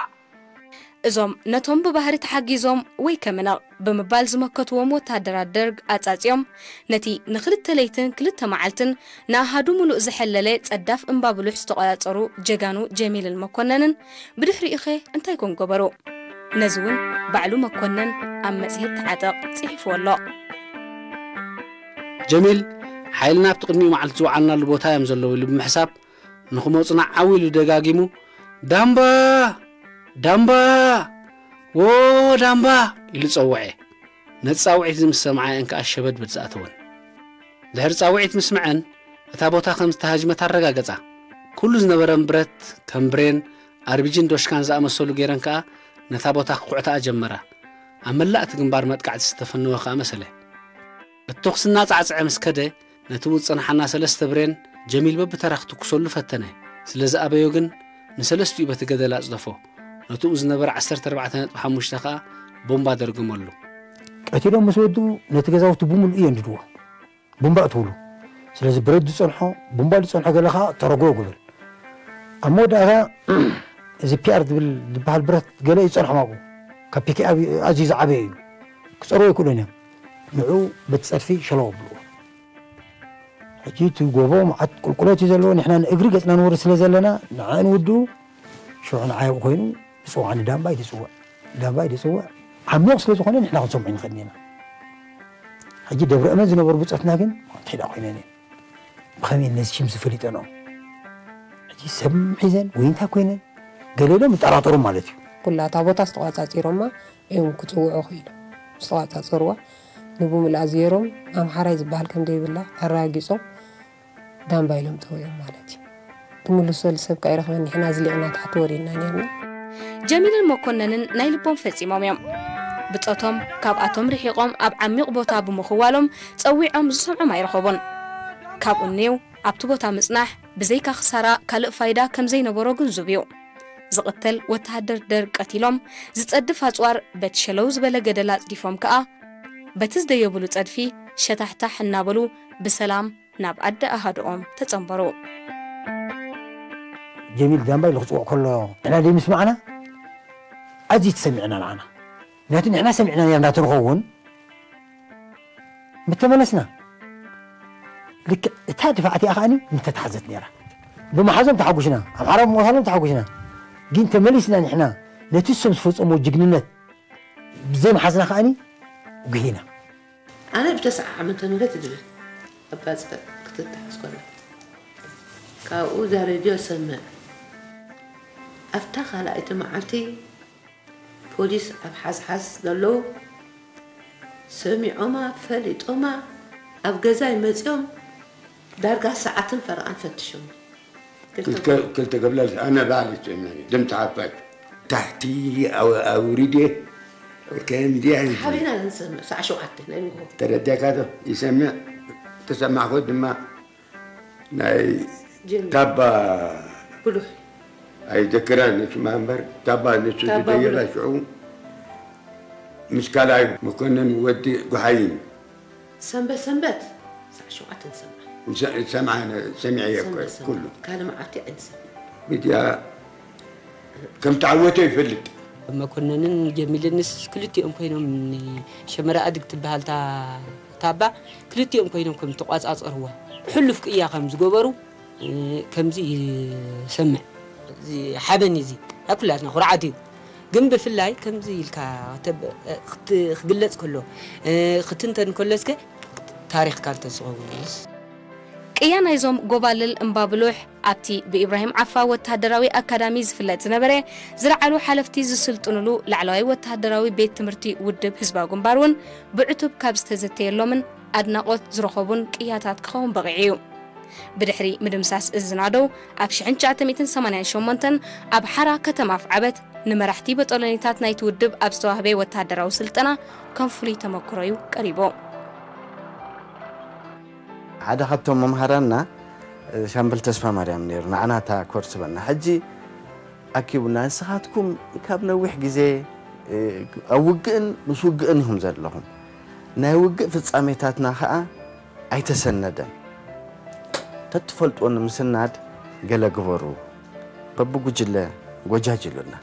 እዞም ነቶም ብባህሪ ተሓጊዞም ወይ ከመነቕ ብምባል ዝመከትዎም ወተሃደራት ደርግ ኣጻጺኦም ነቲ ንኽልተ ለይትን ክልተ መዓልትን ንኣሃዱ ምሉእ ዝሐለለ ጸዳፍ እምባ ብሉሕ ዝተቖጻጸሩ ጀጋኑ ጀሚልን መኮነንን ብድሕሪኡኸ እንታይ ኮን ገበሩ? ነዚ እውን ባዕሉ መኮነን ኣብ መጽሔት ተዓጠቕ ጽሒፍዎ ኣሎ። ጀሚል ሓይልና ኣብቲ ቅድሚኡ መዓልቲ ዝወዓልናሉ ቦታ እዮም ዘለዉ ኢሉ ብምሕሳብ ንኽመፁና ዓው ኢሉ ደጋጊሙ ዳምባ ዳምባ ዎ ዳምባ ኢሉ ጸውዐ። ነቲ ጻውዒት እዚ ምስ ሰምዓ እየን ከኣ ሸበድ በድ ዝኣተወን። ድሕሪ ጻውዒት ምስምዐን እታ ቦታ ከም ዝተሃጅመት ኣረጋገጻ። ኩሉ ዝነበረን ብረት ከም ብሬን፣ ኣርቢጂን ዶሽካን ዝኣመሰሉ ገይረን ከኣ ነታ ቦታ ክኹዕታኣ ጀመራ። ኣብ መላእ እቲ ግንባር መጥቃዕቲ ዝተፈነወ ከኣ መሰለ። እቲ ተኹሲ እናጻዕጸዐ ምስ ከደ፣ ነቲ ዝጸንሓና ሰለስተ ብሬን ጀሚል በብተራ ክትኩሰሉ ፈተነ። ስለ ዝኣበዮ ግን፣ ንሰለስቲኡ በቲ ገደል ኣጽደፎ። ነትኡ ዝነበረ ዓሰርተ ኣርባዕተ ነጥቢ ሓሙሽተ ከኣ ቦምባ ደርገመሉ። ቀቲሎም ምስ ወድኡ፣ ነቲ ገዛውቲ ብምሉኡ የንድድዎ። ቡምባ እትብሉ። ስለዚ ብረት ዝጸንሖ፣ ቡምባ ዝጸንሖ ገለ ከኣ ተረጎ ግብል። ኣብ መወዳእታ እዚ ፒኣር ዝብል ዝበሃል ብረት ገለ እዩ ዝጸንሖም ኣብኡ። ካብ ፒኬኣብ ኣዝዩ ዝዓበየ እዩ። ክጸርዎ ኣይክእሉን እዮም። ንዕኡ በቲ ጸድፊ ሸለው ኣብልዎ። ሕጂ እቲ ጎቦ መዓት ቁልቁለት እዩ ዘለዎ። ንሕና ንእግሪ ገጽና ንወርድ ስለ ዘለና ንዕኡ ንውድኡ። ሽዑ ንዓይ ኣብኡ ኮይኑ ዝጽውዓኒ ዳምባይ ትጽውዕ። ዳምባይ ትጽውዕ። ዓሚቕ ስለ ዝኾነ ንሕና ክንሰምዖ ንኽእል ኢና። ሕጂ ደብረ እመን ዝነበሩ ብጾትና ግን እንታይ ደኣ ኮይነን እየን። ብኸመይ ነዚ ሽም ዝፈሊጠንኦም? ሕጂ ሰብ ሒዘን ወይ እንታይ ኮይነን? ገለ ኢሎም ይጠራጠሩ ማለት እዩ። ኩላ እታ ቦታ ዝተቋጻጺሮማ እዮም ክጽውዑ ክኢሎም። ዝተቋጻጸርዋ ንብምሉእ ኣዝየሮም ኣምሓራይ ዝበሃል ከም ዘይብላ ኣረጋጊጾም ዳምባ ኢሎም ጸዊዖም ማለት እዩ። ትምልሰሉ ሰብ ከኣ ይረኽበን፣ ንሕና ዝሊቕና ታሕቲ ወሪድና ነርና። ጀሚልን መኮነንን ናይ ልቦም ፈጺሞም እዮም። ብጾቶም ካብኣቶም ርሒቖም ኣብ ዓሚቕ ቦታ ብምኽዋሎም ጸዊዖም ዝሰምዖም ኣይረኸቡን። ካብኡ እኔው ኣብቲ ቦታ ምጽናሕ ብዘይካ ክሳራ ካልእ ፋይዳ ከም ዘይነበሮ ግንዙብ እዩ። ዝቕተል ወተሃደር ደርግ ቀቲሎም፣ ዝጸድፍ ኣጽዋር በቲ ሸለው ዝበለ ገደል ኣጽዲፎም ከኣ፣ በቲ ዝደየብሉ ጸድፊ ሸታሕታሕ እናበሉ ብሰላም ናብ ኣደ ኣሃድኦም ተጸንበሩ። ጀሚል ዳምባ ኢሉ ክፅውዕ ከሎ ንሕና ደይ ምስማዕና ኣዝዩ ተሰሚዕና ንዓና። ምክንያቱ ንሕና ሰሚዕና ነርና ተንኸውን ምተመለስና ልክዕ እታ ድፋዕ እቲኣ ከዓኒ ምተታሕዘት ነይራ። ብምሓዞም ተሓጉሽና፣ ኣምሓራ ብምቕታሎም ተሓጉሽና። ግን ተመሊስና ንሕና ነቲ እሶም ዝፈፀምዎ ጅግንነት ብዘይምሓዝና ከዓኒ ጉሂና። ኣነ ብተስዓ ዓመተ ምህረት ይድብል ኣባፅዕ ክትተሓዝ ከላ ካብኡ እዛ ሬድዮ ሰምዕ ኣብታ ካልኣይቲ መዓልቲ ፖሊስ ኣብ ሓዝሓዝ ዘለዉ ሰሚዖማ ፈሊጦማ ኣብ ገዛይ መፅዮም ዳርጋ ሰዓትን ፈረቓን ፈትሾም ክልተ ክብለል ኣነ ባዕሊ ሰሚዐ ድምፂ ሓፋሽ ታሕቲ ኣውሪዴ ከምዚኣ ሓቢና ንሰምዕ ሰዓ ሸውዓተ ናይ ንግሆ ተረዲእካ ዶ ይሰምዕ ተሰማዕኩ ድማ ናይ ጀሚል ታባ ብሉሕ ኣይዘክራን ንስማ እምበር ታባ ንሱ ታባ ዝደየባ ብሉሕ። ሽዑ ምስ ካልኣይ መኮንን ወዲ ጉሓይን ሰንበት ሰንበት ሰዓ ሸውዓተ ንሰምዕ ሰሚዐ እየ እኮ ሰንበት ሰንበት ኩሉ ካልእ መዓልቲ ኣይንሰምዕ ሚድያ ከም ተዓወተ ይፈልጥ መኮነንን ጀሚልንስ ክልቲኦም ኮይኖም ንሸመራ ኣድግ ትበሃል እታ ታባ ክልቲኦም ኮይኖም ከም ተቋፃፀርዋ ሕሉፍ ቅያ ከም ዝገበሩ እ፣ ከምዚ ይሰምዕ። እዚ ሓበን እዩ እዚ ናይ ኩላትና ኩርዓት እዩ። ግን ብፍላይ ከምዚ ኢልካ ተብ- ክት- ክግለፅ ከሎ እ፣ ክትንተን ከሎ እስከ ታሪኽካ እንተዝኸውንስ ቅያ ናይዞም ጎባልል እምባብሉሕ ኣብቲ ብኢብራሂም ዓፋ ወተሃደራዊ ኣካዳሚ ዝፍለጥ ዝነበረ ዝለዓሉ ሓለፍቲ ዝስልጥኑሉ ላዕለዋይ ወተሃደራዊ ቤት ትምህርቲ ውድብ ህዝባዊ ግንባር እውን ብዕቱብ ካብ ዝተዘተየሎምን ኣድናቖት ዝረኸቡን ቅያታት ክኸውን በቒዑ እዩ። ብድሕሪ ምድምሳስ እዚ ዝናደው ኣብ ሽሕን ትሽዓተ ሚእትን ሰማንያን ሸሞንተን ኣብ ሓራ ከተማ ኣፍዓበት ንመራሕቲ በጦሎኒታት ናይቲ ውድብ ኣብ ዝተዋህበ ወተሃደራዊ ስልጠና ከም ፍሉይ ተመክሮ እዩ ቀሪቡ። ሓደ ካብቶም መምሃራንና ሻምበል ተስፋ ማርያም ነይሩ ንዓና እታ ኮርስ በና ሕጂ ኣኪቡና ንስኻትኩም ካብ ነዊሕ ግዜ ኣብ ውግእን ምስ ውግእን ኢኹም ዘለኹም ናይ ውግእ ፍጻሜታትና ኸዓ ኣይተሰነደን ተትፈልጥዎ ንምስናድ ገለ ግበሩ በብጉጅለ ጎጃጅሉና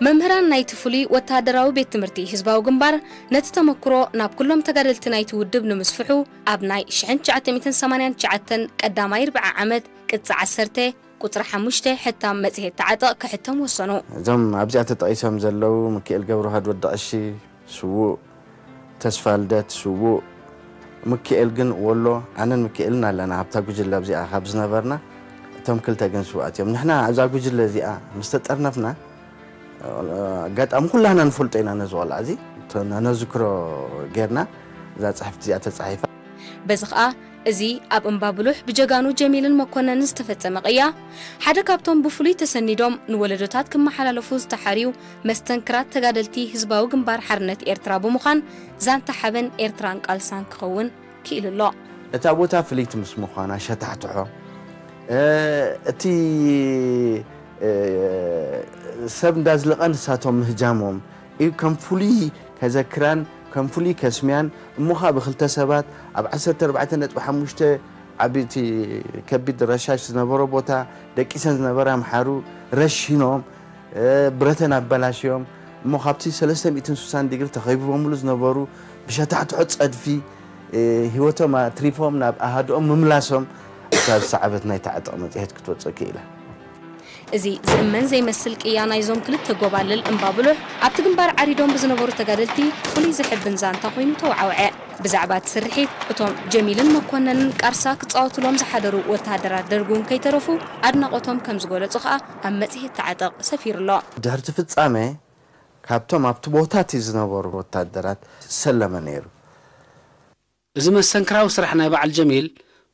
መምህራን ናይቲ ፍሉይ ወተሃደራዊ ቤት ትምህርቲ ህዝባዊ ግንባር ነቲ ተመክሮ ናብ ኩሎም ተጋደልቲ ናይቲ ውድብ ንምስፍሑ ኣብ ናይ ሽሕን ትሽዓተ ሚእትን ሰማንያን ትሽዓተን ቀዳማይ ርብዓ ዓመት ቅጽ ዓሰርተ ቁጽሪ ሓሙሽተ ሕታም መጽሔት ተዓጠቕ ክሕተም ወሰኑ። እዞም ኣብዚኣ ተጠቒሶም ዘለዉ ምክኤል ገብረውሃድ ወዲ ቐሺ ስዉእ፣ ተስፋ ልደት ስዉእ፣ ምክኤል ግን ወሎ ኣነን ምክኤልን ኣለና ኣብታ ጉጅለ ኣብዚኣ ካብ ዝነበርና እቶም ክልተ ግን ስውኣት እዮም ንሕና ኣብዛ ጉጅለ እዚኣ ምስ ተጠርነፍና ኣጋጣሚ ኩላህና ንፈልጦ ኢና ነዚ ቆልዓ እዚ ነዝክሮ ጌርና እዛ ፅሕፍቲ እዚኣ ተፃሒፋ በዚ ኸኣ እዚ ኣብ እምባ ብሉሕ ብጀጋኑ ጀሚልን መኮነንን ዝተፈጸመ ቅያ ሓደ ካብቶም ብፍሉይ ተሰኒዶም ንወለዶታት ክመሓላለፉ ዝተሓርዩ መስተንክራት ተጋደልቲ ህዝባዊ ግንባር ሓርነት ኤርትራ ብምዃን ዛንታ ሓበን ኤርትራን ቃልሳን ክኸውን ክኢሉ ኣሎ። እታ ቦታ ፍልይቲ ምስ ምዃና ሸታሕትሖ እቲ ሰብ እንዳዝለቐ ንሳቶም ምህጃሞም እዩ ከም ፍሉይ ከዘክራን ከም ፍሉይ ከስምያን እሞ ኸዓ ብክልተ ሰባት ኣብ ዓሰርተ ኣርባዕተ ነጥቢ ሓሙሽተ ዓቢቲ ከቢድ ረሻሽ ዝነበሮ ቦታ ደቂሰን ዝነበራ ኣምሓሩ ረሺኖም ብረተን ኣበላሽዮም እሞ ካብቲ ሰለስተ ሚእትን ስሳን ዲግሪ ተኸቢቦምሉ ዝነበሩ ብሸታሕትሖ ጸድፊ ህይወቶም ኣትሪፎም ናብ ኣሃድኦም ምምላሶም እታ ዝሰዓበት ናይታ ዕጥቕ መጽሔት ክትወጽእ ክኢላ። እዚ ዝእመን ዘይመስል ቅያ ናይዞም ክልተ ጎባልል እምባብሉሕ ኣብቲ ግንባር ዓሪዶም ብዝነበሩ ተጋደልቲ ፍሉይ ዘሕብን ዛንታ ኮይኑ ተወዓውዐ። ብዛዕባ እቲ ስርሒት እቶም ጀሚልን መኮነንን ቃርሳ ክጻወቱሎም ዝሓደሩ ወተሃደራት ደርግ እውን ከይተረፉ ኣድናቖቶም ከም ዝገለጹ ከኣ ኣብ መጽሔት ተዓጠቕ ሰፊሩ ኣሎ። ድሕርቲ ፍጻመ ካብቶም ኣብቲ ቦታ እቲ ዝነበሩ ወታደራት ዝሰለመ ነይሩ። እዚ መስተንክራዊ ስራሕ ናይ በዓል ጀሚል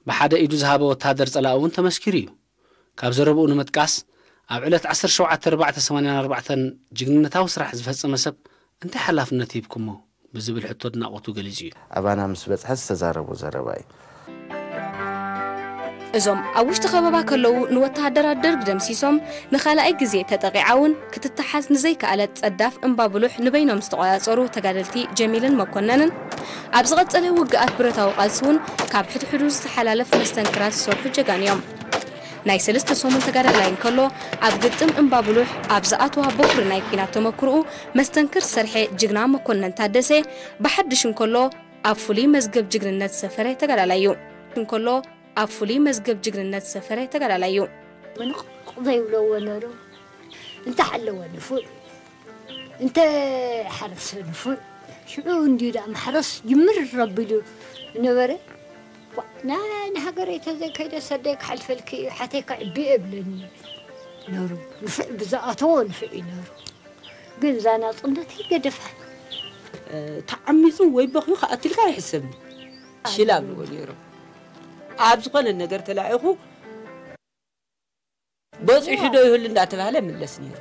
ብሓደ ኢዱ ዝሃበ ወተሃደር ጸላኢ እውን ተመስኪሩ እዩ። ካብ ዘረብኡ ንምጥቃስ፣ ኣብ ዕለት ዓሰርተ ሸውዓተ ኣርባዕተ ሰማንያን ኣርባዕተን ጅግንነታዊ ስራሕ ዝፈጸመ ሰብ እንታይ ሓላፍነት ሂብኩሞ? ብዝብል ሕቶ ኣድናቖቱ ገሊጹ እዩ። ኣባና ምስ በጽሐ ዝተዛረቦ ዘረባ እዩ። እዞም ኣብ ውሽጢ ከበባ ከለዉ ንወተሃደራት ደርግ ደምሲሶም ንኻልኣይ ግዜ ተጠቒዓ እውን ክትተሓዝ ንዘይከኣለት ጸዳፍ እምባ ብሉሕ ንበይኖም ዝተቖጻጸሩ ተጋደልቲ ጀሚልን መኮነንን ኣብ ዝቐጸለ ውግኣት ብረታዊ ቃልሲ እውን ካብ ሕድሕዱ ዝተሓላለፍ መስተንክራት ዝሰርሑ ጀጋኑ እዮም። ናይ ሰለስተ ሰሙን ተጋዳላይ እንከሎ ኣብ ግጥም እምባ ብሉሕ ኣብ ዝኣተዋ በኩሪ ናይ ኲናት ተመክርኡ መስተንክር ዝሰርሐ ጅግና መኮነን ታደሰ ብሓድሽ እንከሎ ኣብ ፍሉይ መዝገብ ጅግንነት ዝሰፈረ ተጋዳላይ እዩ። እንከሎ ኣብ ፍሉይ መዝገብ ጅግንነት ዝሰፈረ ተጋዳላይ እዩ። ምንቕቕ ዘይብለዎ ነሩ እንተ ሓለወ ንፉዕ እንተ ሓረሰ ንፉዕ ሽዑ እንድዩ ደኣ ማሕረስ ጅምር ረቢሉ ነበረ። ና ንሃገረይ ተዘይከይደ ሰደይ ክሓልፈልኪ እዩ ሓተይ ከዕቢ እብለኒ ነሩ። ንፉዕ ብዝኣተዎ ንፉዕ እዩ ነሩ። ግን እዛ ናጽነት ይገደፋ። ተዓሚፁ ወይ በኽዩ ክኣትልካ ኣይሕሰብን። ሽላ ኣብልዎ ነይሮም። ኣብ ዝኾነ ነገር ተላኢኹ በፂሑ ዶ ይህሉ እንዳተባህለ ምለስ ነይሩ።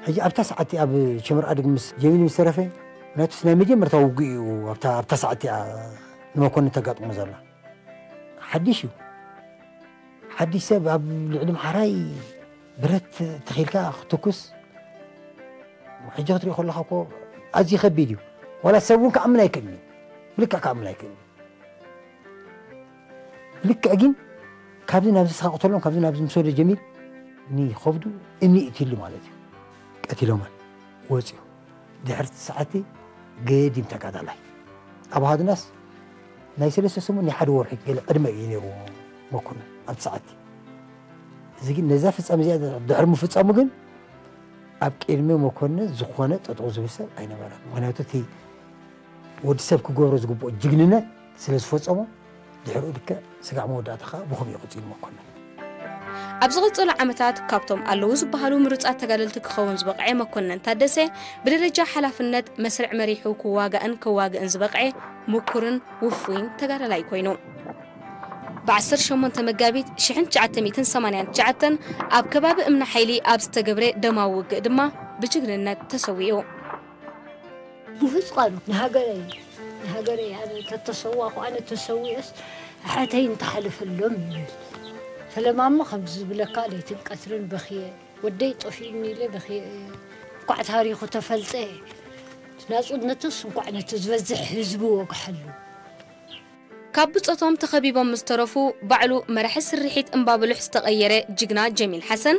ሕጂ ኣብታ ሰዓት ኣብ ሸምር ኣድግ ምስ ጀሚል ምስ ተረፈ ምክንያቱስ ናይ መጀመርታ ውግእ እዩ ኣብታ ኣብታ ሰዓት እያ ንመኮንን ተጋጥሞ ዘላ ሓድሽ እዩ ሓድሽ ሰብ ኣብ ልዕሊ ምሓራይ ብረት ተኺልካ ክትኩስ ሕጂ ክትሪኦ ከለኻ እኮ ኣዝዩ ከቢድ እዩ ዋላ ሰብ እውን ክኣምን ኣይክእልን እዩ ብልክዕ ክኣምን ኣይክእልን እዩ ልክዕ ግን ካብዚ ናብዚ ስኻ ቅተሎም ካብዚ ናብዚ ምስ ወደ ጀሚል ንኸብዱ እምኒ እትሉ ማለት እዩ ቀቲሎመን ወፅዩ ድሕርቲ ሰዓቲ ገዲም ተጋዳላይ ኣብ ሃድናስ ናይ ሰለስተ ሰሙን ናይ ሓደ ወርሒ ገለ ዕድመ እዩ ነይሩ መኮንን ኣብቲ ሰዓቲ እዚ ግን ነዛ ፍፃም እዚኣ ድሕሪ ምፍፃሙ ግን ኣብ ቅድሚ መኮንን ዝኾነ ጠጠው ዝብል ሰብ ኣይነበረን ምክንያቱ እቲ ወዲ ሰብ ክገብሮ ዝግብኦ ጅግንነት ስለ ዝፈጸሞ ድሕሪኡ ልክዕ ስጋዕ መወዳእታ ከዓ ብኸምኡ እዩ ቀጺሉ መኮንን። ኣብ ዝቕጽሉ ዓመታት ካብቶም ኣለዉ ዝበሃሉ ምሩጻት ተጋደልቲ ክኸውን ዝበቕዐ መኮነን ታደሰ ብደረጃ ሓላፍነት መስርዕ መሪሑ ክዋጋእን ከዋግእን ዝበቕዐ ምኩርን ውፉይን ተጋዳላይ ኮይኑ። ብ ዓሰርተ ሸሞንተ መጋቢት ሽሕን ትሽዓተ ሚእትን ሰማንያን ትሽዓተን ኣብ ከባቢ እምኒ ሓይሊ ኣብ ዝተገብረ ደማዊ ውግእ ድማ ብጅግንነት ተሰዊኡ። ብህዝቃኑ ንሃገረይ ንሃገረይ ኣነ ተተሰዋኹ ኣነ ተሰዊኦስ ኣሓተይ እንተሓለፈሎም ይብል። ፈለማ እሞ ከምዚ ዝብለካ ለይትን ቀትርን በኽየ ወደይ ጠፊኡኒ ኢለ በኽየ እየ። እንኳዕ ታሪኹ ተፈልጠ ናጽነቱስ እንኳዕ ነቲ ዝበዝሕ ህዝቢ ወግሐሉ። ካብ ብጾቶም ተኸቢቦም ምስ ተረፉ፣ ባዕሉ መራሒ ስርሒት እምባብሉሕ ዝተቐየረ ጅግና ጀሚል ሓሰን፣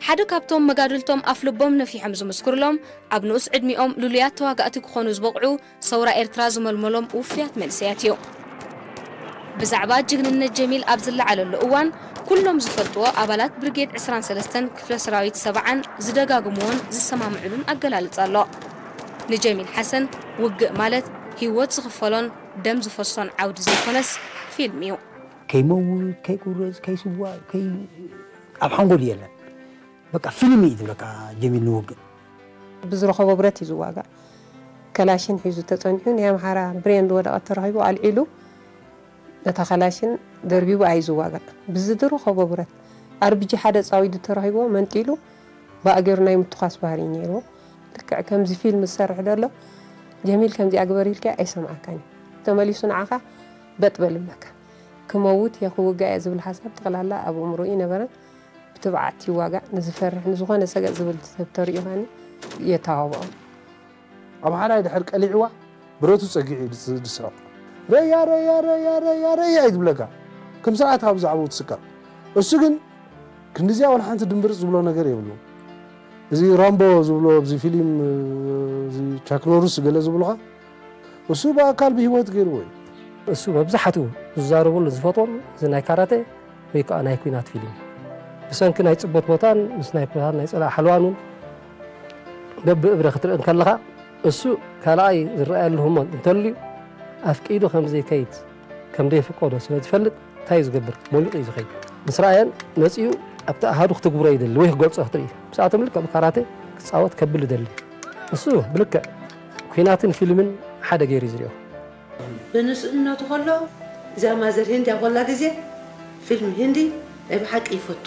ሓደ ካብቶም መጋድልቶም ኣፍልቦም ነፊሖም ዝምስክሩሎም፣ ኣብ ንኡስ ዕድሚኦም ልሉያት ተዋጋእቲ ክኾኑ ዝበቕዑ፣ ሰውራ ኤርትራ ዝመልመሎም ውፉያት መንእሰያት እዩ። ብዛዕባ ጅግንነት ጀሚል ኣብ ዝለዓለሉ እዋን፣ ኩሎም ዝፈልጥዎ ኣባላት ብርጌድ ዕስራን ሰለስተን ክፍለ ሰራዊት ሰብዓን ዝደጋግምዎን ዝሰማምዕሉን ኣገላልጻ ኣሎ። ንጀሚል ሓሰን፣ ውግእ ማለት ህይወት ዝኽፈሎን ደም ዝፈሶን ዓውዲ ዘይኮነስ ፊልም እዩ። ከይመውት፣ ከይቁረፅ፣ ከይስዋእ፣ ከይ ኣብ ሓንጎል የለን። በቃ ፊልም እዩ ዝብለካ ጀሚል ንውግእ። ብዝረኸቦ ብረት እዩ ዝዋጋእ። ከላሽን ሒዙ ተፀኒሑ ናይ ኣምሓራ ብሬን ዝወደቐት ተረኺቡ ኣልዒሉ ነታ ከላሽን ደርቢቡ ኣዩ ዝዋጋእ። ብዝድረኸቦ ብረት ኣርብጂ ሓደ ፃዊዱ ተረኺብዎ መንጢሉ ብኣገሩ ናይ ምትኳስ ባህሪ እዩ ነይርዎ። ልክዕ ከምዚ ፊልም ዝሰርሕ ዘሎ ጀሚል ከምዚኣ ግበር ኢልካዮ ኣይሰምዓካን እዩ። ተመሊሱ ንዓኻ በጥ በል ይብለካ። ክመውት እየ ክውጋእ እየ ዝብል ሓሳብ ጠቕላላ ኣብ ኣእምሮኡ ኣይነበረን። ብትብዓት ይዋጋእ፣ ንዝፈርሕ ንዝኾነ ሰገጥ ዝብል ሰብ ተሪኡ ከኣኒ የተባብዖ። ኣምሓራይ ድሕር ቀሊዕዋ ብረቱ ጸጊዑ እዩ ዝስሕቕ። ረያ ረያ ረያ ረያ ረያ እዩ ዝብለካ። ከም ስርዓት ካብ ብዛዕባኡ ትስቀቕ። እሱ ግን ክንድዚኣ ዋላ ሓንቲ ድምብርጽ ዝብሎ ነገር የብሉን። እዚ ራምቦ ዝብሎ ኣብዚ ፊልም እዚ ቻክ ኖርስ ገለ ዝብሉኻ እሱ ብኣካል ብህይወት ገይርዎ እዩ። እሱ መብዛሕትኡ ዝዛረበሉ ዝፈትዎን እዚ ናይ ካራተ ወይ ከዓ ናይ ኲናት ፊልም እዩ። ብሰንኪ ናይ ፅበት ቦታን ስናይፐራትን ናይ ፀላኢ ሓለዋን እውን በብእብረ ክትርኢ እንከለኻ እሱ ካልኣይ ዝረኣየሉ ህሞት እንተልዩ ኣፍቂዱ ከም ዘይከይድ ከም ዘይፍቀዶ ስለ ዝፈልጥ እንታይ እዩ ዝገብር? ሞሊቑ እዩ ዝኸይድ። ምስ ረኣየን መፂኡ ኣብቲ ኣሃዱ ክትግብሮ ይደሊ ወይ ክገልፆ ክትርኢ። ምስኣቶም ልክዕ ብካራተ ክፃወት ከብል ይደሊ። እሱ ብልክዕ ኲናትን ፊልምን ሓደ ገይሩ እዩ ዝሪኦ። ብንእስነቱ ከሎ እዛ ማዘር ሂንዲ ኣብ ኮላ ግዜ ፊልም ሂንዲ ናይ ብሓቂ ይፈቱ።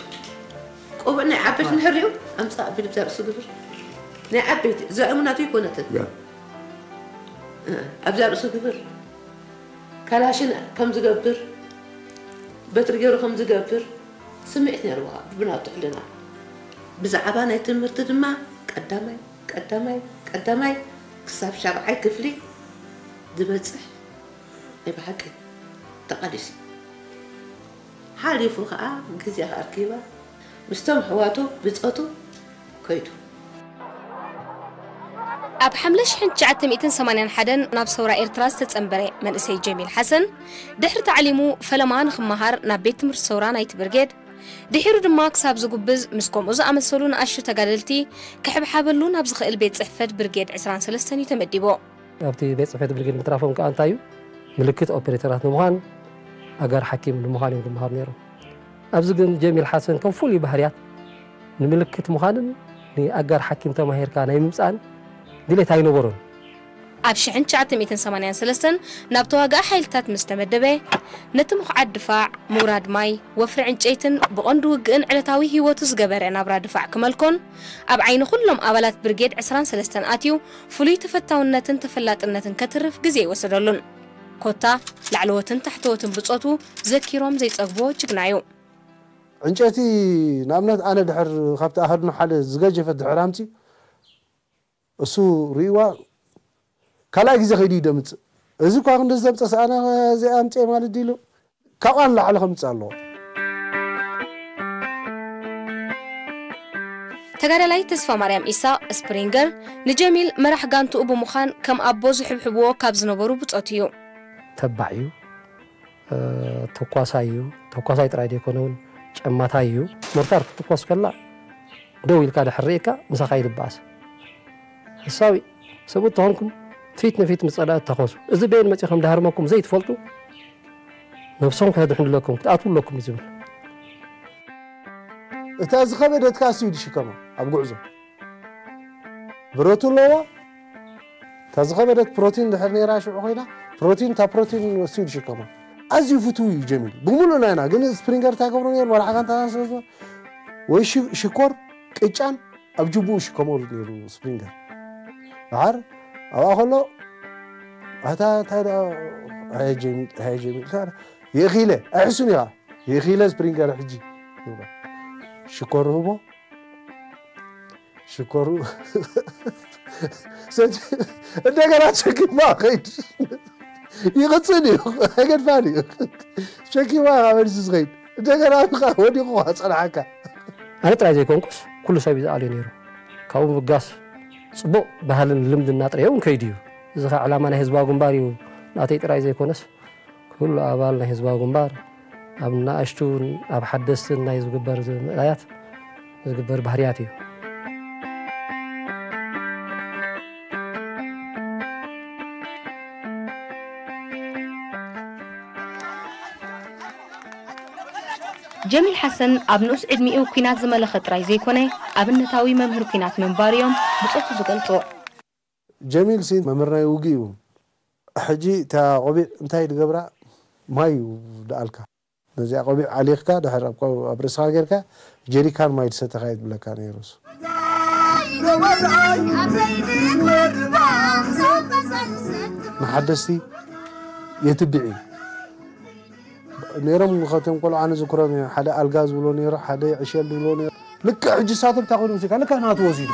ቆቡዕ ናይ ዓበይቲ ንሕሪኡ ኣምጻእ ቢሉ ኣብዛ ርእሱ ግብር። ናይ ዓበይቲ እዛ እሙናቱ ይኮነትን። ያ። እ፣ ኣብዛ ርእሱ ግብር። ካላሽን ከም ዝገብር፣ በትሪ ገይሩ ከም ዝገብር ስምዒት ነይርዎ ብናቱ ሕልና። ብዛዕባ ናይ ትምህርቲ ድማ ቀዳማይ፣ ቀዳማይ፣ ቀዳማይ ክሳብ ሻብዓይ ክፍሊ ዝበጽሕ ናይ ብሓቂ ተቓሊሱ። ሓሊፉ ኸኣ ግዜ ኣርኪባ ምስቶም ኣሕዋቱ ብጾቱ ከይዱ። ኣብ ሓምለ ሽሕን ትሽዓተ ሚእትን ሰማንያን ሓደን ናብ ሰውራ ኤርትራ ዝተጸንበረ መንእሰይ ጀሚል ሓሰን፣ ድሕሪ ታዕሊሙ ፈለማ ንኽመሃር ናብ ቤት ትምህርቲ ሰውራ ናይቲ ብርጌድ፣ ድሒሩ ድማ ክሳብ ዝጉብዝ ምስ ከምኡ ዝኣመሰሉ ንኣሽቱ ተጋደልቲ ክሕብሓበሉ ናብ ዝኽእል ቤት ጽሕፈት ብርጌድ ዕስራን ሰለስተን እዩ ተመዲቡ። ኣብቲ ቤት ጽሕፈት ብርጌድ ምትራፎም ከኣ እንታይ እዩ? ምልክት ኦፐሬተራት ንምዃን፣ ኣጋር ሓኪም ንምዃን እዮም ዝመሃሩ ነይሮም። ኣብዚ ግን ጀሚል ሓሰን ከም ፍሉይ ባህርያት ንምልክት ምዃንን ንኣጋር ሓኪም ተማሂርካ ናይ ምምጻእን ድሌት ኣይነበሮን። ኣብ ሽሕን ትሽዓተ ሚእትን ሰማንያን ሰለስተን ናብ ተዋጋኢ ሓይልታት ምስ ተመደበ፣ ነቲ ምኹዓት ድፋዕ፣ ምውራድ ማይ፣ ወፍሪ ዕንጨይትን ብቐንዱ ውግእን ዕለታዊ ህይወቱ ዝገበረ ናብራ ድፋዕ ክመልኮን፣ ኣብ ዓይኒ ኩሎም ኣባላት ብርጌድ ዕስራን ሰለስተን ኣትዩ ፍሉይ ተፈታውነትን ተፈላጥነትን ከትርፍ ግዜ ኣይወሰደሉን። ኮታ ላዕለዎትን ታሕተዎትን ብጾቱ ዘኪሮም ዘይጸግብዎ ጅግና እዩ። ዕንጨይቲ ንኣብነት ኣነ ድሕር ካብቲ ኣሃዱና ሓደ ዝገጀፈት ድሕር ኣምጺ እሱ ርእይዋ ካልኣይ ግዜ ከይዱ ይደምጽእ። እዚ እኳ ክንዲ ዘምጸስ ኣነ እዚኣ ኣምጽኤ ማለት ድዩ ኢሉ ካብኣ ንላዕሊ ከምጽእ ኣለዎ። ተጋዳላይ ተስፋ ማርያም ኢሳቕ ስፕሪንገር ንጀሚል መራሕ ጋንትኡ ብምዃን ከም ኣቦ ዝሕብሕብዎ ካብ ዝነበሩ ብጾት እዩ። ተባዕ እዩ፣ እ፣ ተኳሳይ እዩ። ተኳሳይ ጥራይ ዘይኮነ እውን ጨማታይ እዩ። ሞርታር ክትትኮስ ከላ ደው ኢልካ ድሕር ርኢካ ምሳኻ ይድበኣስ። ሓሳዊ ሰብኡት ተኾንኩም ፊት ንፊት ምስ ጸላእቲ ተኾሱ። እዚ በየን መጺኡ ከም ድሃርመኩም ዘይትፈልጡ ነብሶም ከድሕኑለኩም ክትኣትዉ ኣለኩም እዩ ዝብል። እታ ዝኸበደት ከኣ እሱ እዩ ዝሽከማ ኣብ ጉዕዞ። ብረቱ ኣለዋ። እታ ዝኸበደት ፕሮቲን ድሕር ነይራ ሽዑ ኮይና፣ ፕሮቲን፣ እታ ፕሮቲን እሱ እዩ ዝሽከማ። ኣዝዩ ፍቱው እዩ ጀሚል። ብምሉእ ናይና፣ ግን ስፕሪንገር እንታይ ገብሮ ነይሩ? መራሕ ጋንታና ስለ ዝኾነ፣ ወይ ሽ-፣ ሽኮር፣ ቅጫን ኣብ ጅቡኡ ይሽከመሉ ነይሩ ስፕሪንገር። ደሓር ኣብኣ ከሎ፣ ኣታ እንታይ ደኣ፣ ኣየ ጀሚል፣ ኣየ ጀሚል፣ እንታይ ደኣ፣ የእኺለ፣ ኣይሕሱን ኢኻ። የእኺለ ስፕሪንገር ሕጂ። ሽኮር ህቦ፣ ሽኮሩ ሰቲ-፣ እንደገና ሸኪማ ኸይድ ይቕጽል እዩ። ኣይገድፋን እዩ። ሸኪማ ካብ መልሲ ዝኸይድ እንደገና ብኻ ወዲቑ ኸዓ ጸንሓካ። ኣነ ጥራይ ዘይኮንኩስ ኩሉ ሰብ እዩ ዝኣልዮ ነይሩ። ካብኡ ምብጋስ ጽቡቕ ባህልን ልምድና ጥራይ እውን ከይዱ እዩ። እዚ ኸዓ ዕላማ ናይ ህዝባዊ ግንባር እዩ። ናተይ ጥራይ ዘይኮነስ ኩሉ ኣባል ናይ ህዝባዊ ግንባር ኣብ ንኣሽቱን ኣብ ሓደስትን ናይ ዝግበር ዝ-፣ ምእላያት ዝግበር ባህርያት እዩ። ጀሚል ሓሰን ኣብ ንኡስ ዕድሚኡ ኲናት ዝመለኸ ጥራይ ዘይኮነ፣ ኣብነታዊ መምህር ኲናት ምንባሩ እዮም ብጾቱ ዝገልጹ። ጀሚል ሲ መምህር ናይ ውግእ እዩ። ሕጂ እታ ቆቢዕ እንታይ ድገብራ? ማይ እዩ ደኣልካ። ነዚኣ ቆቢዕ ኣሊኽካ ድሕር ኣብ ቆ-፣ ኣብ ርእስኻ ጌርካ ጀሪካን ማይ ዝሰተኻ እዩ ዝብለካ ነይሩ እሱ። ንሓደስቲ የትብዕ እዩ። ነይሮም፣ ካብቶም ቆልዑ ኣነ ዝክሮም እየ። ሓደ ኣልጋ ዝብሎ ነይሩ፣ ሓደ ዕሸል ዝብሎ ነይሩ። ልክዕ ሕጂ ሳቶም እንታይ ኮይኑ ወሲድካ? ልክዕ ናቱ ወሲዱ።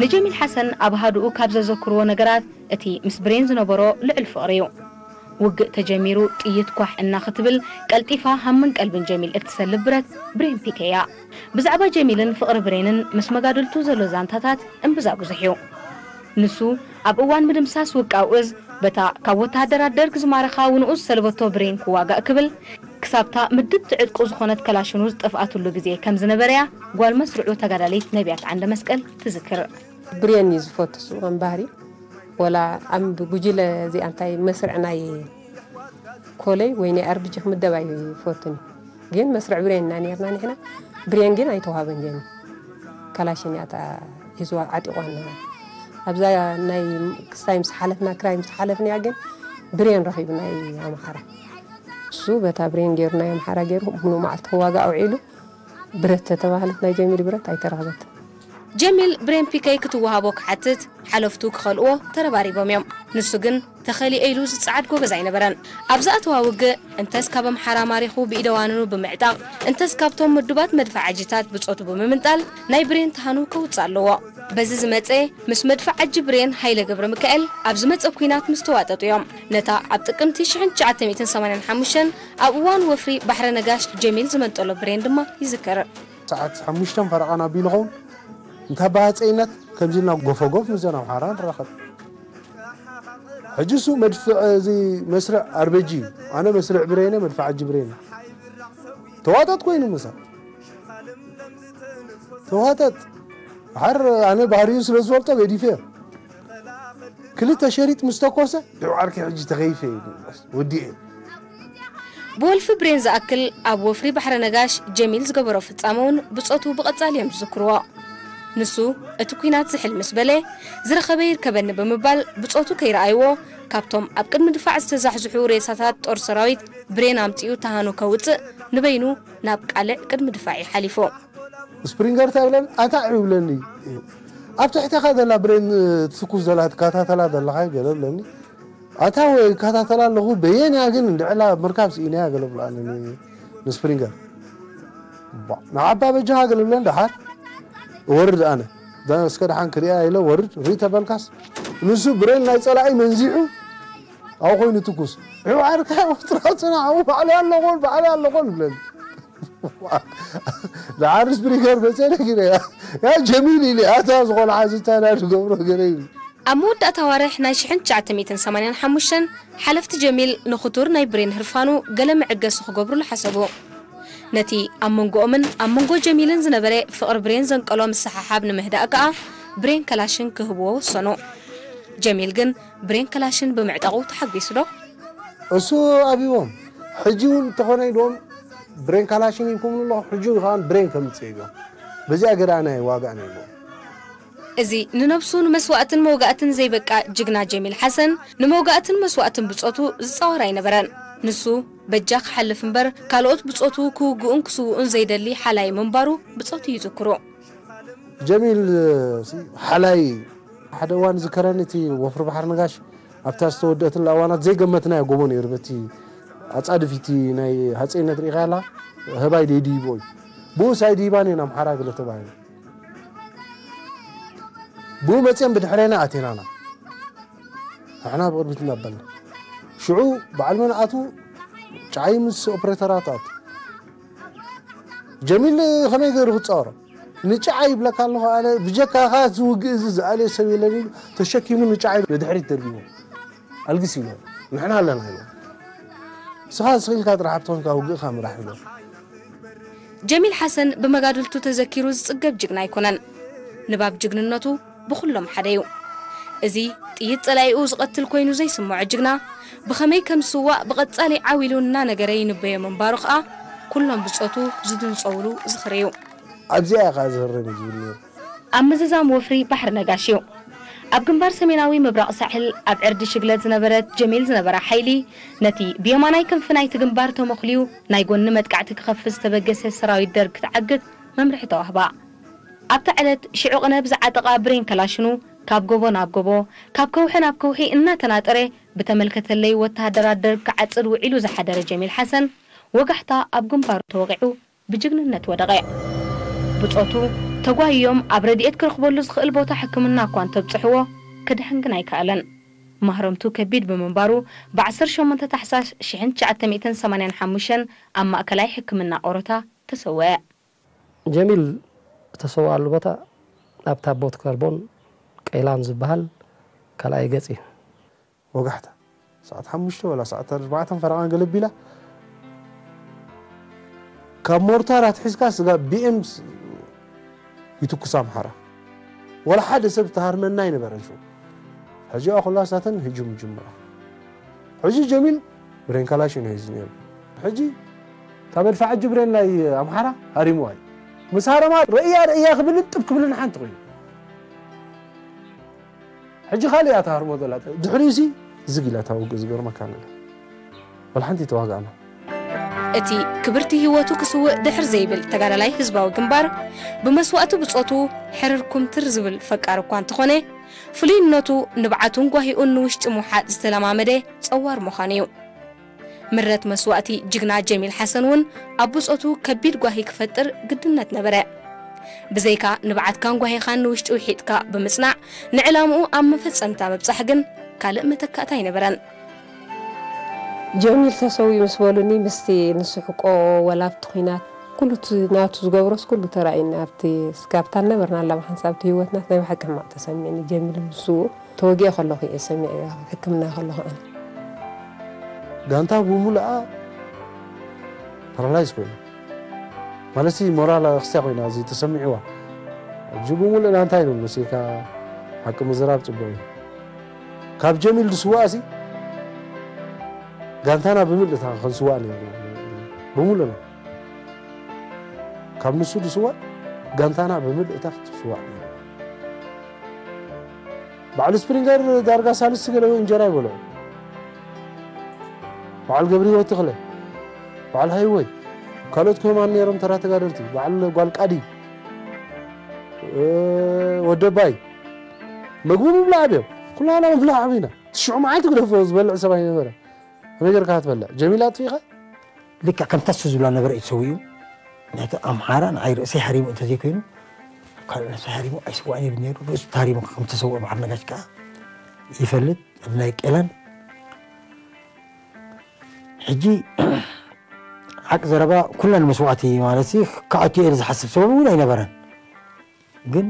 ንጀሚል ሓሰን ኣብ ሃዱኡ ካብ ዘዘክርዎ ነገራት እቲ ምስ ብሬን ዝነበሮ ልዑል ፍቕሪ እዩ። ውግእ ተጀሚሩ ጥይት ኳሕ እናኽትብል ቀልጢፋ ሃምን ቀልብን ጀሚል እትሰልብ ብረት ብሬን ፒኬ እያ። ብዛዕባ ጀሚልን ፍቕሪ ብሬንን ምስ መጋድልቱ ዘሎ ዛንታታት እምብዛ ብዙሕ እዩ። ንሱ ኣብ እዋን ምድምሳስ ውቃው እዝ በታ ካብ ወተሃደራት ደርግ ዝማረኻ ውንኡ ዝሰለበቶ ብሬን ክዋጋእ ክብል ክሳብታ ምድብቲ ዕጥቁ ዝኾነት ከላሽኑ ዝጠፍኣትሉ ግዜ ከም ዝነበረ እያ ጓል መስርዑ ተጋዳሊት ነቢያት ዓንደ መስቀል ትዝክር። ብሬን እዩ ዝፈቱ እሱ ከም ባህሪ። ወላ ኣብ ጉጅለ እዚኣ እንታይ መስርዕ ናይ ኮለይ ወይ ናይ ኣርብጂ ክምደብ ኣይፈቱን። ግን መስርዕ ብሬን ኢና ነርና ንሕና። ብሬን ግን ኣይተዋሃበን ጀሚ። ካላሽን እያ እታ ሒዝዋ ዓጢቋ ነበረ። ኣብዛ ናይ ክስታይ ምስ ሓለፍና ክራይ ምስ ሓለፍና ግን ብሬን ረኺቡ ናይ ኣምሓራ። እሱ በታ ብሬን ገይሩ ናይ ኣምሓራ ገይሩ ሙሉ መዓልቲ ክዋጋ ኣውዒሉ። ብረት ተተባህለት ናይ ጀሚል ብረት ኣይተረኽበትን። ጀሚል ብሬን ፒከይ ክትወሃቦ ክሓትት ሓለፍቱ ክኸልእዎ ተረባሪቦም እዮም። ንሱ ግን ተኸሊኤ ኢሉ ዝጸዓድ ጎበዝ ኣይነበረን። ኣብ ዝኣተዋ ውግእ እንተስ ካብ ኣምሓራ ማሪኹ ብኢደዋንኑ ብምዕጣቕ እንተስ ካብቶም ምዱባት መድፍዓጂታት ብጾቱ ብምምንጣል ናይ ብሬን ተሃኑ ከውጽእ ኣለዎ። በዚ ዝመጸ ምስ መድፍዓጂ ብሬን ሃይለ ገብረሚካኤል ኣብ ዝመጸ ኲናት ምስ ተዋጠጡ እዮም። ነታ ኣብ ጥቅምቲ ሽሕን ትሽዓተ ሚእትን ሰማንያን ሓሙሽተን ኣብ እዋን ወፍሪ ባሕረ ነጋሽ ጀሚል ዝመንጠሎ ብሬን ድማ ይዝከር። ሰዓት ሓሙሽተ ፈረቓ ናብ ቢልኾውን እንታ ብሃፀይነት ከምዚ ኢልና ጎፈጎፍ ምስዘን ኣምሓራ ንራኸብ። ሕጂ እሱ መድፍዕ እዚ መስርዕ ኣርበጂ እዩ። ኣነ መስርዕ ብሬነ መድፍዕ ኣጂ ብሬነ ተዋጠጥ ኮይኑ ምሳ ተዋጠጥ ሓር ኣነ ባህሪኡ ስለ ዝፈልጦ ገዲፈ ክልተ ሸሪጥ ምስ ተኮሰ ድዑ ዓርከይ ሕጂ ተኸይፈ እዩ ወዲኤ። ብወልፊ ብሬን ዝኣክል ኣብ ወፍሪ ባሕረ ነጋሽ ጀሚል ዝገበሮ ፍጻመ እውን ብጾቱ ብቐጻሊ እዮም ዝዝክርዎ። ንሱ እቲ ኲናት ዝሕል ምስ በለ ዝረኸበ ይርከበኒ ብምባል ብጾቱ ከይረኣይዎ ካብቶም ኣብ ቅድሚ ድፋዕ ዝተዛሕዝሑ ሬሳታት ጦር ሰራዊት ብሬን ኣምጺኡ ተሃኑ ከውጽእ ንበይኑ ናብ ቃልዕ ቅድሚ ድፋዕ እዩ ሓሊፉ። ስፕሪንገር እንታይ ብለኒ ኣታ እዩ ብለኒ ኣብ ትሕተኻ ዘላ ብሬን ትኩስ ዘላ ትከታተላ ዘለኻ ገለ ብለኒ ኣታ ወይ እከታተላ ኣለኹ በየንያ ግን እንድዕላ ምርካብ ስኢነያ ገለ ብሎ ኣነ ንስፕሪንገር ንዓባ በጃኻ ገለ ብለን ደሓር እወርድ ኣነ እስከ ደሓን ክሪኣ ኢለ ወርድ ርኢ ተበልካስ ንሱ ብሬን ናይ ፀላኢ መንዚሑ ኣብኡ ኮይኑ ትኩስ ይባርካ ጥራፅና ኣብኡ ባዕለይ ኣለኾን ባዕለይ ኣለኾን ብለኒ ደሓር ስፕሪንገር መፀ ነጊረ ያ ጀሚል ኢለ ኣታ ዝኾነ ሓዝታ ና ዝገብሮ ገለ ኢሉ ኣብ መወዳእታ ኣዋርሕ ናይ ሽሕን ትሽዓተ ሚእትን ሰማንያን ሓሙሽተን ሓለፍቲ ጀሚል ንኽቱር ናይ ብሬን ህርፋኑ ገለ መዐገሲ ክገብሩሉ ሓሰቡ። ነቲ ኣብ መንጎኦምን ኣብ መንጎ ጀሚልን ዝነበረ ፍቕሪ ብሬን ዘንቀሎ ምስሕሓብ ንምህዳእ ከኣ ብሬን ከላሽን ክህብዎ ወሰኑ። ጀሚል ግን ብሬን ከላሽን ብምዕጣቑ ተሓጒሱ ዶ? እሱ ኣብዎም ሕጂ እውን እንተኾነ ኢልዎም ብሬን ካላሽን ሂብኩምኒ ኣለኹ ሕጂ እውን ከዓ ብሬን ከምፅእ ኢልዎም በዚኣ ገዳና ይዋጋእና ኢልዎም እዚ ንነብሱ ንመስዋእትን መውጋእትን ዘይበቃ ጅግና ጀሚል ሓሰን ንመውጋእትን መስዋእትን ብጾቱ ዝጻወር ኣይነበረን። ንሱ በጃ ክሓልፍ እምበር ካልኦት ብጾቱ ክውግኡን ክስውኡን ዘይደሊ ሓላይ ምንባሩ ብጾቱ ይዝክሩ። ጀሚል ሓላይ ሓደ እዋን ዝከረኒ እቲ ወፍሪ ባሕሪ ነጋሽ ኣብታ ዝተወደአትላ እዋናት ዘይገመትናዮ ጎቦ ነይሩ በቲ ኣጻድፊቲ ናይ ሃፀይነት ሪኢኻ ያላ ህባይ ደይድይቦ እዩ ብኡስ ኣይድይባን እየን ኣምሓራ ገለ ተባሂሉ ብኡ መፅኦም ብድሕሬና ኣቴናና ንሕና ብቕድሚት እናበልና ሽዑ በዓል መን ኣትዉ ጫዓይ ምስ ኦፕሬተራት ኣትዉ ጀሚል ከመይ ገይሩ ክፃወሮ ንጫዓ ይብለካ ኣለኹ ኣነ ብጀካኻ እዚ ውግእ እዚ ዝኣልዮ ሰብ የለን ኢሉ ተሸኪሙ ንጫዓ ንድሕሪት ደርቢቡ ኣልግስ ኢሎ ንሕና ኣለና ኢሎ ንስኻ ስኺልካ ጥራሕ ኣብቲ ኮንካ ውግእኻ ምራሕ ኢሎ ጀሚል ሓሰን ብመጋድልቱ ተዘኪሩ ዝጽገብ ጅግና ኣይኮነን። ንባብ ጅግንነቱ ብኹሎም ሓደ እዩ። እዚ ጥይት ጸላኢኡ ዝቐትል ኮይኑ ዘይስምዖ ጅግና ብኸመይ ከም ዝስዋእ ብቐጻሊ ዓው ኢሉ እናነገረ ይንበዮ ምንባሩ ኸኣ ኩሎም ብጾቱ ዝድንጸውሉ ዝኽሪ እዩ። ኣብዚኣ እያ ኸኣ ዝህረም እዩ ዝብል ነይሩ። ኣብ ምዝዛም ወፍሪ ባሕሪ ነጋሽ እዩ። ኣብ ግንባር ሰሜናዊ ምብራቕ ሳሕል ኣብ ዕርዲ ሽግለት ዝነበረት ጀሚል ዝነበራ ሓይሊ ነቲ ብየማናይ ክንፊ ናይቲ ግንባር ተመኹልዩ ናይ ጎኒ መጥቃዕቲ ክኸፍት ዝተበገሰ ሰራዊት ደርግ ክትዓግት መምርሒ ተዋህባ። ኣብታ ዕለት ሽዑ ቅነ ብዝዓጠቓ ብሬን ከላሽኑ ካብ ጎቦ ናብ ጎቦ ካብ ከውሒ ናብ ከውሒ እናተናጠረ ብተመልከተለይ ወተሃደራት ደርግ ክዓጽድ ውዒሉ ዝሓደረ ጀሚል ሓሰን ወጋሕታ ኣብ ግንባሩ ተወቒዑ ብጅግንነት ወደቐ። ብጾቱ ተጓይዮም ኣብ ረድኤት ክረኽበሉ ዝኽእል ቦታ ሕክምና እኳ እንተብጽሕዎ ክድሕን ግን ኣይከኣለን። ማህረምቱ ከቢድ ብምንባሩ ብ ዓሰርተ ሸሞንተ ታሕሳስ ሽሕን ትሽዓተ ሚእትን ሰማንያን ሓሙሽተን ኣብ ማእከላይ ሕክምና ኦሮታ ተሰወአ። ጀሚል ዝተሰወኣሉ ቦታ ኣብ ታቦት ከርቦን ቀይላን ዝበሃል ካልኣይ ገጽ እዩ። ወጋሕታ ሰዓት ሓሙሽተ ወላ ሰዓት ኣርባዕተን ፈረቓን ገለ ቢላ ካብ ሞርታር ኣትሒዝካ ስጋብ ቢኤም ይትኩስ ኣምሓራ። ወላ ሓደ ሰብ ተሃርመና ኣይነበረን ሽዑ። ሕጂ እዋ ኩላ ሳተን ህጁም ይጅምራ። ሕጂ ጀሚል ብሬን ካላሽን እዩ ሒዙ ነይሩ። ሕጂ ካብ መድፍዓጂ ብሬን ናይ ኣምሓራ ሃሪምዋ እዩ። ምስ ሃረማ ርእያ ርእያ ክብልን ጥብ ክብልን ሓንቲ ኮይኑ። ሕጂ ካልእ እያ ትሃርሞ ዘላ። ድሕሪኡሲ ዝግ ኢላ እታ ውግእ ዝገርመካ ነገር። ወላ ሓንቲ ተዋጋእና። እቲ ክብርቲ ህይወቱ ክስውእ ድሕር ዘይብል ተጋዳላይ ህዝባዊ ግንባር፣ ብመስዋእቲ ብጾቱ ሕርር ኩምትር ዝብል ፈቃር እኳ እንተኾነ፣ ፍሉይነቱ ንብዓቱን ጓሂኡን ንውሽጢ ምውሓጥ ዝተለማመደ ጸዋር ምዃኑ እዩ። ምረት መስዋእቲ ጅግና ጀሚል ሓሰን እውን ኣብ ብጾቱ ከቢድ ጓሂ ክፈጥር ግድነት ነበረ። ብዘይካ ንብዓትካን ጓሂኻን ንውሽጢ ውሒጥካ ብምጽናዕ ንዕላምኡ ኣብ መፈጸምታ ምብጻሕ ግን ካልእ መተካእታ ኣይነበረን። ጀሚል ተሰዊኡ ምስ በሉኒ ምስቲ ንስሕቆ ወላ ኣብቲ ኲናት ኩሉ እቲ ናቱ ዝገብሮስ ኩሉ ተራእዩና ኣብቲ እስካብታ ነበርና ኣላ ብሓንሳብ እቲ ህይወትና ናይ ብሓቂ ሕማቕ ተሰሚዕኒ ጀሚል ምስኡ ተወጊአ ከለኹ እየ ሰሚዐ ሕክምና ከለኹ ኣነ ጋንታ ብምሉኣ ፓራላይዝ ኮይና ማለት ሞራል ክስትያ ኮይና እዚ ተሰሚዕዋ ሕጂ ብምሉእ ናንታይ ነው መሲልካ ሓቂ ምዝራብ ፅቡቅ እዩ ካብ ጀሚል ዝስዋእ ሲ ጋንታና ብምልእታ ክንስዋእ ነይሩ ብምሉእና ካብ ንሱ ዝስዋእ ጋንታና ብምልእታ ክትስዋእ ነይሩ በዓል ስፕሪንገር ዳርጋ ሳልስቲ ገለ እንጀራ ይበልዑ በዓል ገብረ ህይወት ተኽለ በዓል ሃይወይ ካልኦት ከማን ነይሮም ተራ ተጋደልቲ በዓል ጓል ቃዲ ወደባይ ምግቡ ምብላዕ ኣብዮም ኩላና ምብላዕ ኣብና ትሽዑ መዓልቲ ግደፎ ዝበልዕ ሰብ ኣይነበረ ከመይ ገርካ ትበልዕ ጀሚላ ኣጥፊእኻ ልክዕ ከምታ እሱ ዝብላ ነበረ እዩ ተሰዊኡ ምክንያቱ ኣምሓራ ንዓይ ርእሰይ ሃሪሙ እንተዘይኮይኑ ካልእ ነብሰይ ሃሪሙ ኣይስዋእን ይብል ነይሩ ርእሱ ተሃሪሙ ከምተሰውአ በዓል ነጋሽ ከዓ ይፈልጥ ኣብ ናይ ቄላን ሕጂ ሓቂ ዘረባ ኩለን መስዋእቲ ማለት ክኣትዮ ኢለ ዝሓስብ ሰበብ እውን ኣይነበረን ግን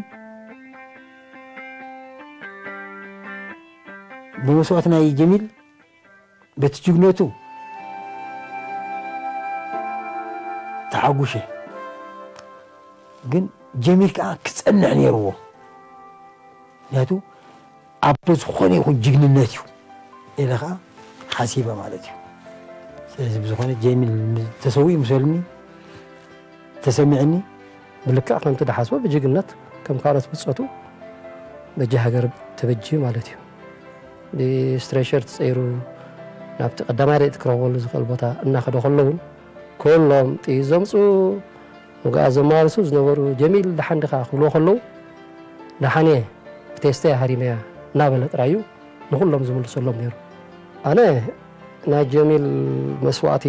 ብመስዋእቲ ናይ ጀሚል በቲ ጅግነቱ ተሓጉሸ ግን ጀሚል ከዓ ክፀንዕ ነይርዎ ምክንያቱ ኣቦ ዝኾነ ይኹን ጅግንነት እዩ ኢለ ከዓ ሓሲበ ማለት እዩ ስለዚ ብዝኾነ ጀሚል ተሰዊኡ ምሰሉኒ ተሰሚዕኒ ብልክዕ ከምቲ ድሓስቦ ብጅግነት ከም ካልኦት ብጾቱ በጃ ሃገር ተበጅዩ ማለት እዩ። ብስትሬቸር ተጸይሩ ናብቲ ቀዳማይ ረድኤት ክረኽበሉ ዝኽእል ቦታ እናኸደ ከሎ እውን ኩሎም ጥይት ዘምጽኡ፣ ውግኣት ዘመላልሱ ዝነበሩ ጀሚል ደሓን ዲኻ ክብልዎ ከለዉ ደሓን እየ ብቴስታ እየ ሃሪመያ እናበለ ጥራይ እዩ ንኹሎም ዝምልሰሎም ነይሩ። ኣነ ናይ ጀሚል መስዋእቲ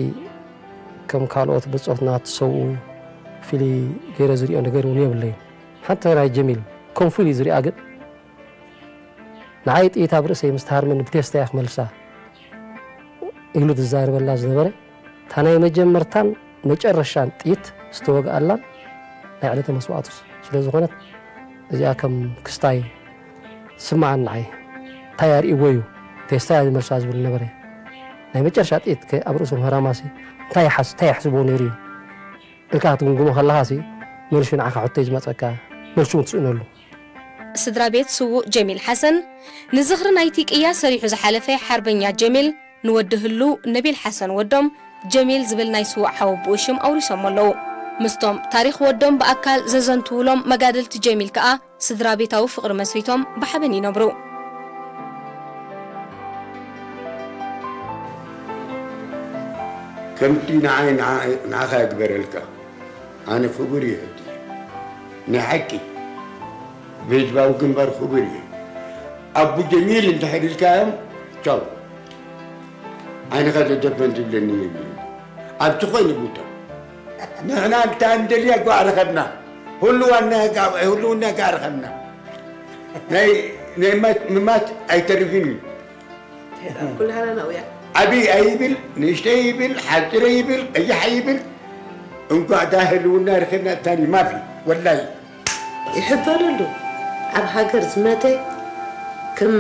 ከም ካልኦት ብጾትና ትሰውኡ ፍልይ ገይረ ዝሪኦ ነገር እውን የብለይን። ሓንቲ ናይ ጀሚል ከም ፍሉይ ዝሪኣ ግን ንዓይ ጥይት ኣብ ርእሰይ ምስ ተሃርመኒ ብቴስታ እያ ክመልሳ ኢሉ ዝዛረበላ ዝነበረ እታ ናይ መጀመርታን መጨረሻን ጥይት ዝተወግኣላን ናይ ዕለተ መስዋእቱ ስለ ዝኾነት እዚኣ ከም ክስታይ ስምዓኒ ንዓይ እንታይ ኣርእይዎ እዩ ቴስታ እያ ዝመልሳ ዝብል ነበረ ናይ መጨረሻ ጥይት ከ ኣብ ርእሱ ምህራማሲ እንታይ ይሓስ እንታይ ይሕስቦ ነይሩ እዩ ኢልካ ክትግምግሞ ከለኻሲ መልሹ ንዓኻ ሕቶ እዩ ዝመፀካ መልሹ እውን ትስእነሉ ስድራ ቤት ስዉእ ጀሚል ሓሰን ንዝኽሪ ናይቲ ቅያ ሰሪሑ ዝሓለፈ ሓርበኛ ጀሚል ንወዲ ህሉው ነቢል ሓሰን ወዶም ጀሚል ዝብል ናይ ስዉእ ሓወቦኡ ሽም ኣውሪሶሞ ኣለዉ። ምስቶም ታሪኽ ወዶም ብኣካል ዘዘንትዉሎም መጋድልቲ ጀሚል ከኣ ስድራ ቤታዊ ፍቕሪ መስሪቶም ብሓበን ይነብሩ። ከምቲ ንዓይ ንዓኻ ይግበረልካ። ኣነ ክቡር እየ ሕጂ ናይ ሓቂ ብህዝባዊ ግንባር ክቡር እየ ኣቡ ጀሚል እንድሕር ኢልካዮም ቻው ዓይንኻ ዘደፈን ዝብለኒ የብሉ ኣብቲ ኾይኑ ቦታ ንሕና እንታ እንደልያ ጓዕ ረኸብና ህልዋና ጋ- ህልውና ጋዕ ረኸብና ናይ ናይ ማት- ምማት ኣይተርፍን እዩ ኩላህና ናውያ ዓብይ ኣይብል ንእሽተይ ይብል ሓፂረ ይብል ቀያሕ ይብል እንኳዕ ዳ ህልውና ረኸብና እታኒ ማፊ ወላይ ይሕበረሉ ኣብ ሃገር ዝመተ ከም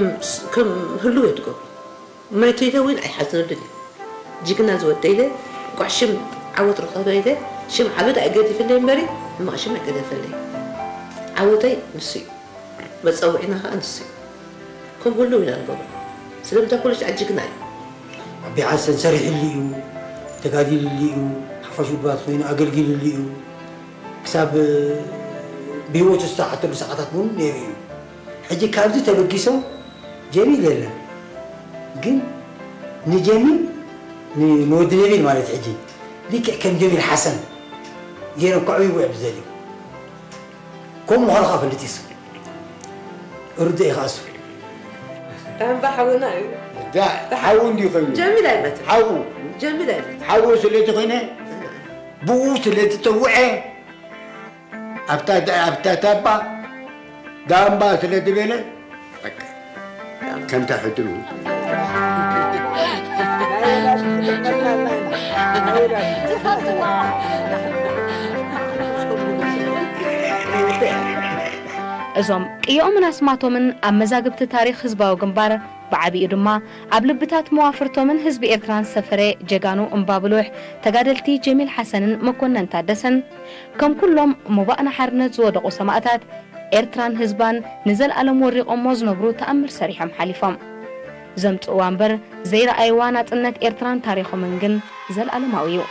ከም ህልው የድጎ መይቱ ኢለ እውን ኣይሓዝነሉን እዩ ጅግና ዝወደ ኢለ እንኳዕ ሽም ዓወት ረኸበ ኢለ ሽም ዓመት ኣይገድፍለይ እምበሪ፣ ሕማቕ ሽም ኣይገደፈልለይ። ዓወተይ ንሱ እዩ። መጸውዒና ኸኣ ንሱ እዩ። ከም ህልው ኢና ንገብሮ። ስለምንታይ ኩሉ ሻዕ ጅግና እዩ። ኣቢ ሓሰን ሰሪሕሉ እዩ፣ ተጋዲልሉ እዩ፣ ሓፋሽ ውድባት ኮይኑ ኣገልጊልሉ እዩ። ክሳብ ብህይወቱ ዝተሓተሉ ሰዓታት እውን ነይሩ እዩ። ሕጂ ካብዚ ተበጊሶም ጀሚል የለን። ግን ንጀሚል፣ ን-፣ ንወዲ ነቢል ማለት ሕጂ ልክዕ ከም ጀሚል ሓሰን ገይሮም ከዕብይዎ እዮም ዝደልዩ። ከምኡ ምዃኑ ኸኣ ፈልጥ እዩ እሱ። ርዱእ እዩ ኸኣ እሱ። ዳምባ ሓውና እዩ። ዳ-፣ ሓው እንድዩ ኮይኑ። ጀሚል ኣይመትን። ሓው። ጀሚል ኣይመትን። ሓው ስለ ዝኾነ፣ ብኡ ስለ ዝጸውዐ፣ ኣብታ ዳ-፣ ኣብታ ታባ ዳምባ ስለ ዝበለ፣ በቃ፣ ከምታ ሕድሩ። እዞም ቅዮኦምን ኣስማቶምን ኣብ መዛግብቲ ታሪኽ ህዝባዊ ግንባር፣ ብዓቢኡ ድማ ኣብ ልብታት መዋፍርቶምን ህዝቢ ኤርትራን ዝሰፈረ ጀጋኑ እምባብሉሕ ተጋደልቲ ጀሚል ሓሰንን መኮነን ታደሰን፣ ከም ኩሎም ሞባእ ንሓርነት ዝወደቑ ሰማእታት፣ ኤርትራን ህዝባን ንዘለኣለም ወሪቖሞ ዝነብሩ ተኣምር ሰሪሖም ሓሊፎም። ዘምጽእዋ እምበር ዘይረኣይዋ ናጽነት ኤርትራን ታሪኾምን ግን ዘልኣለማዊ እዩ።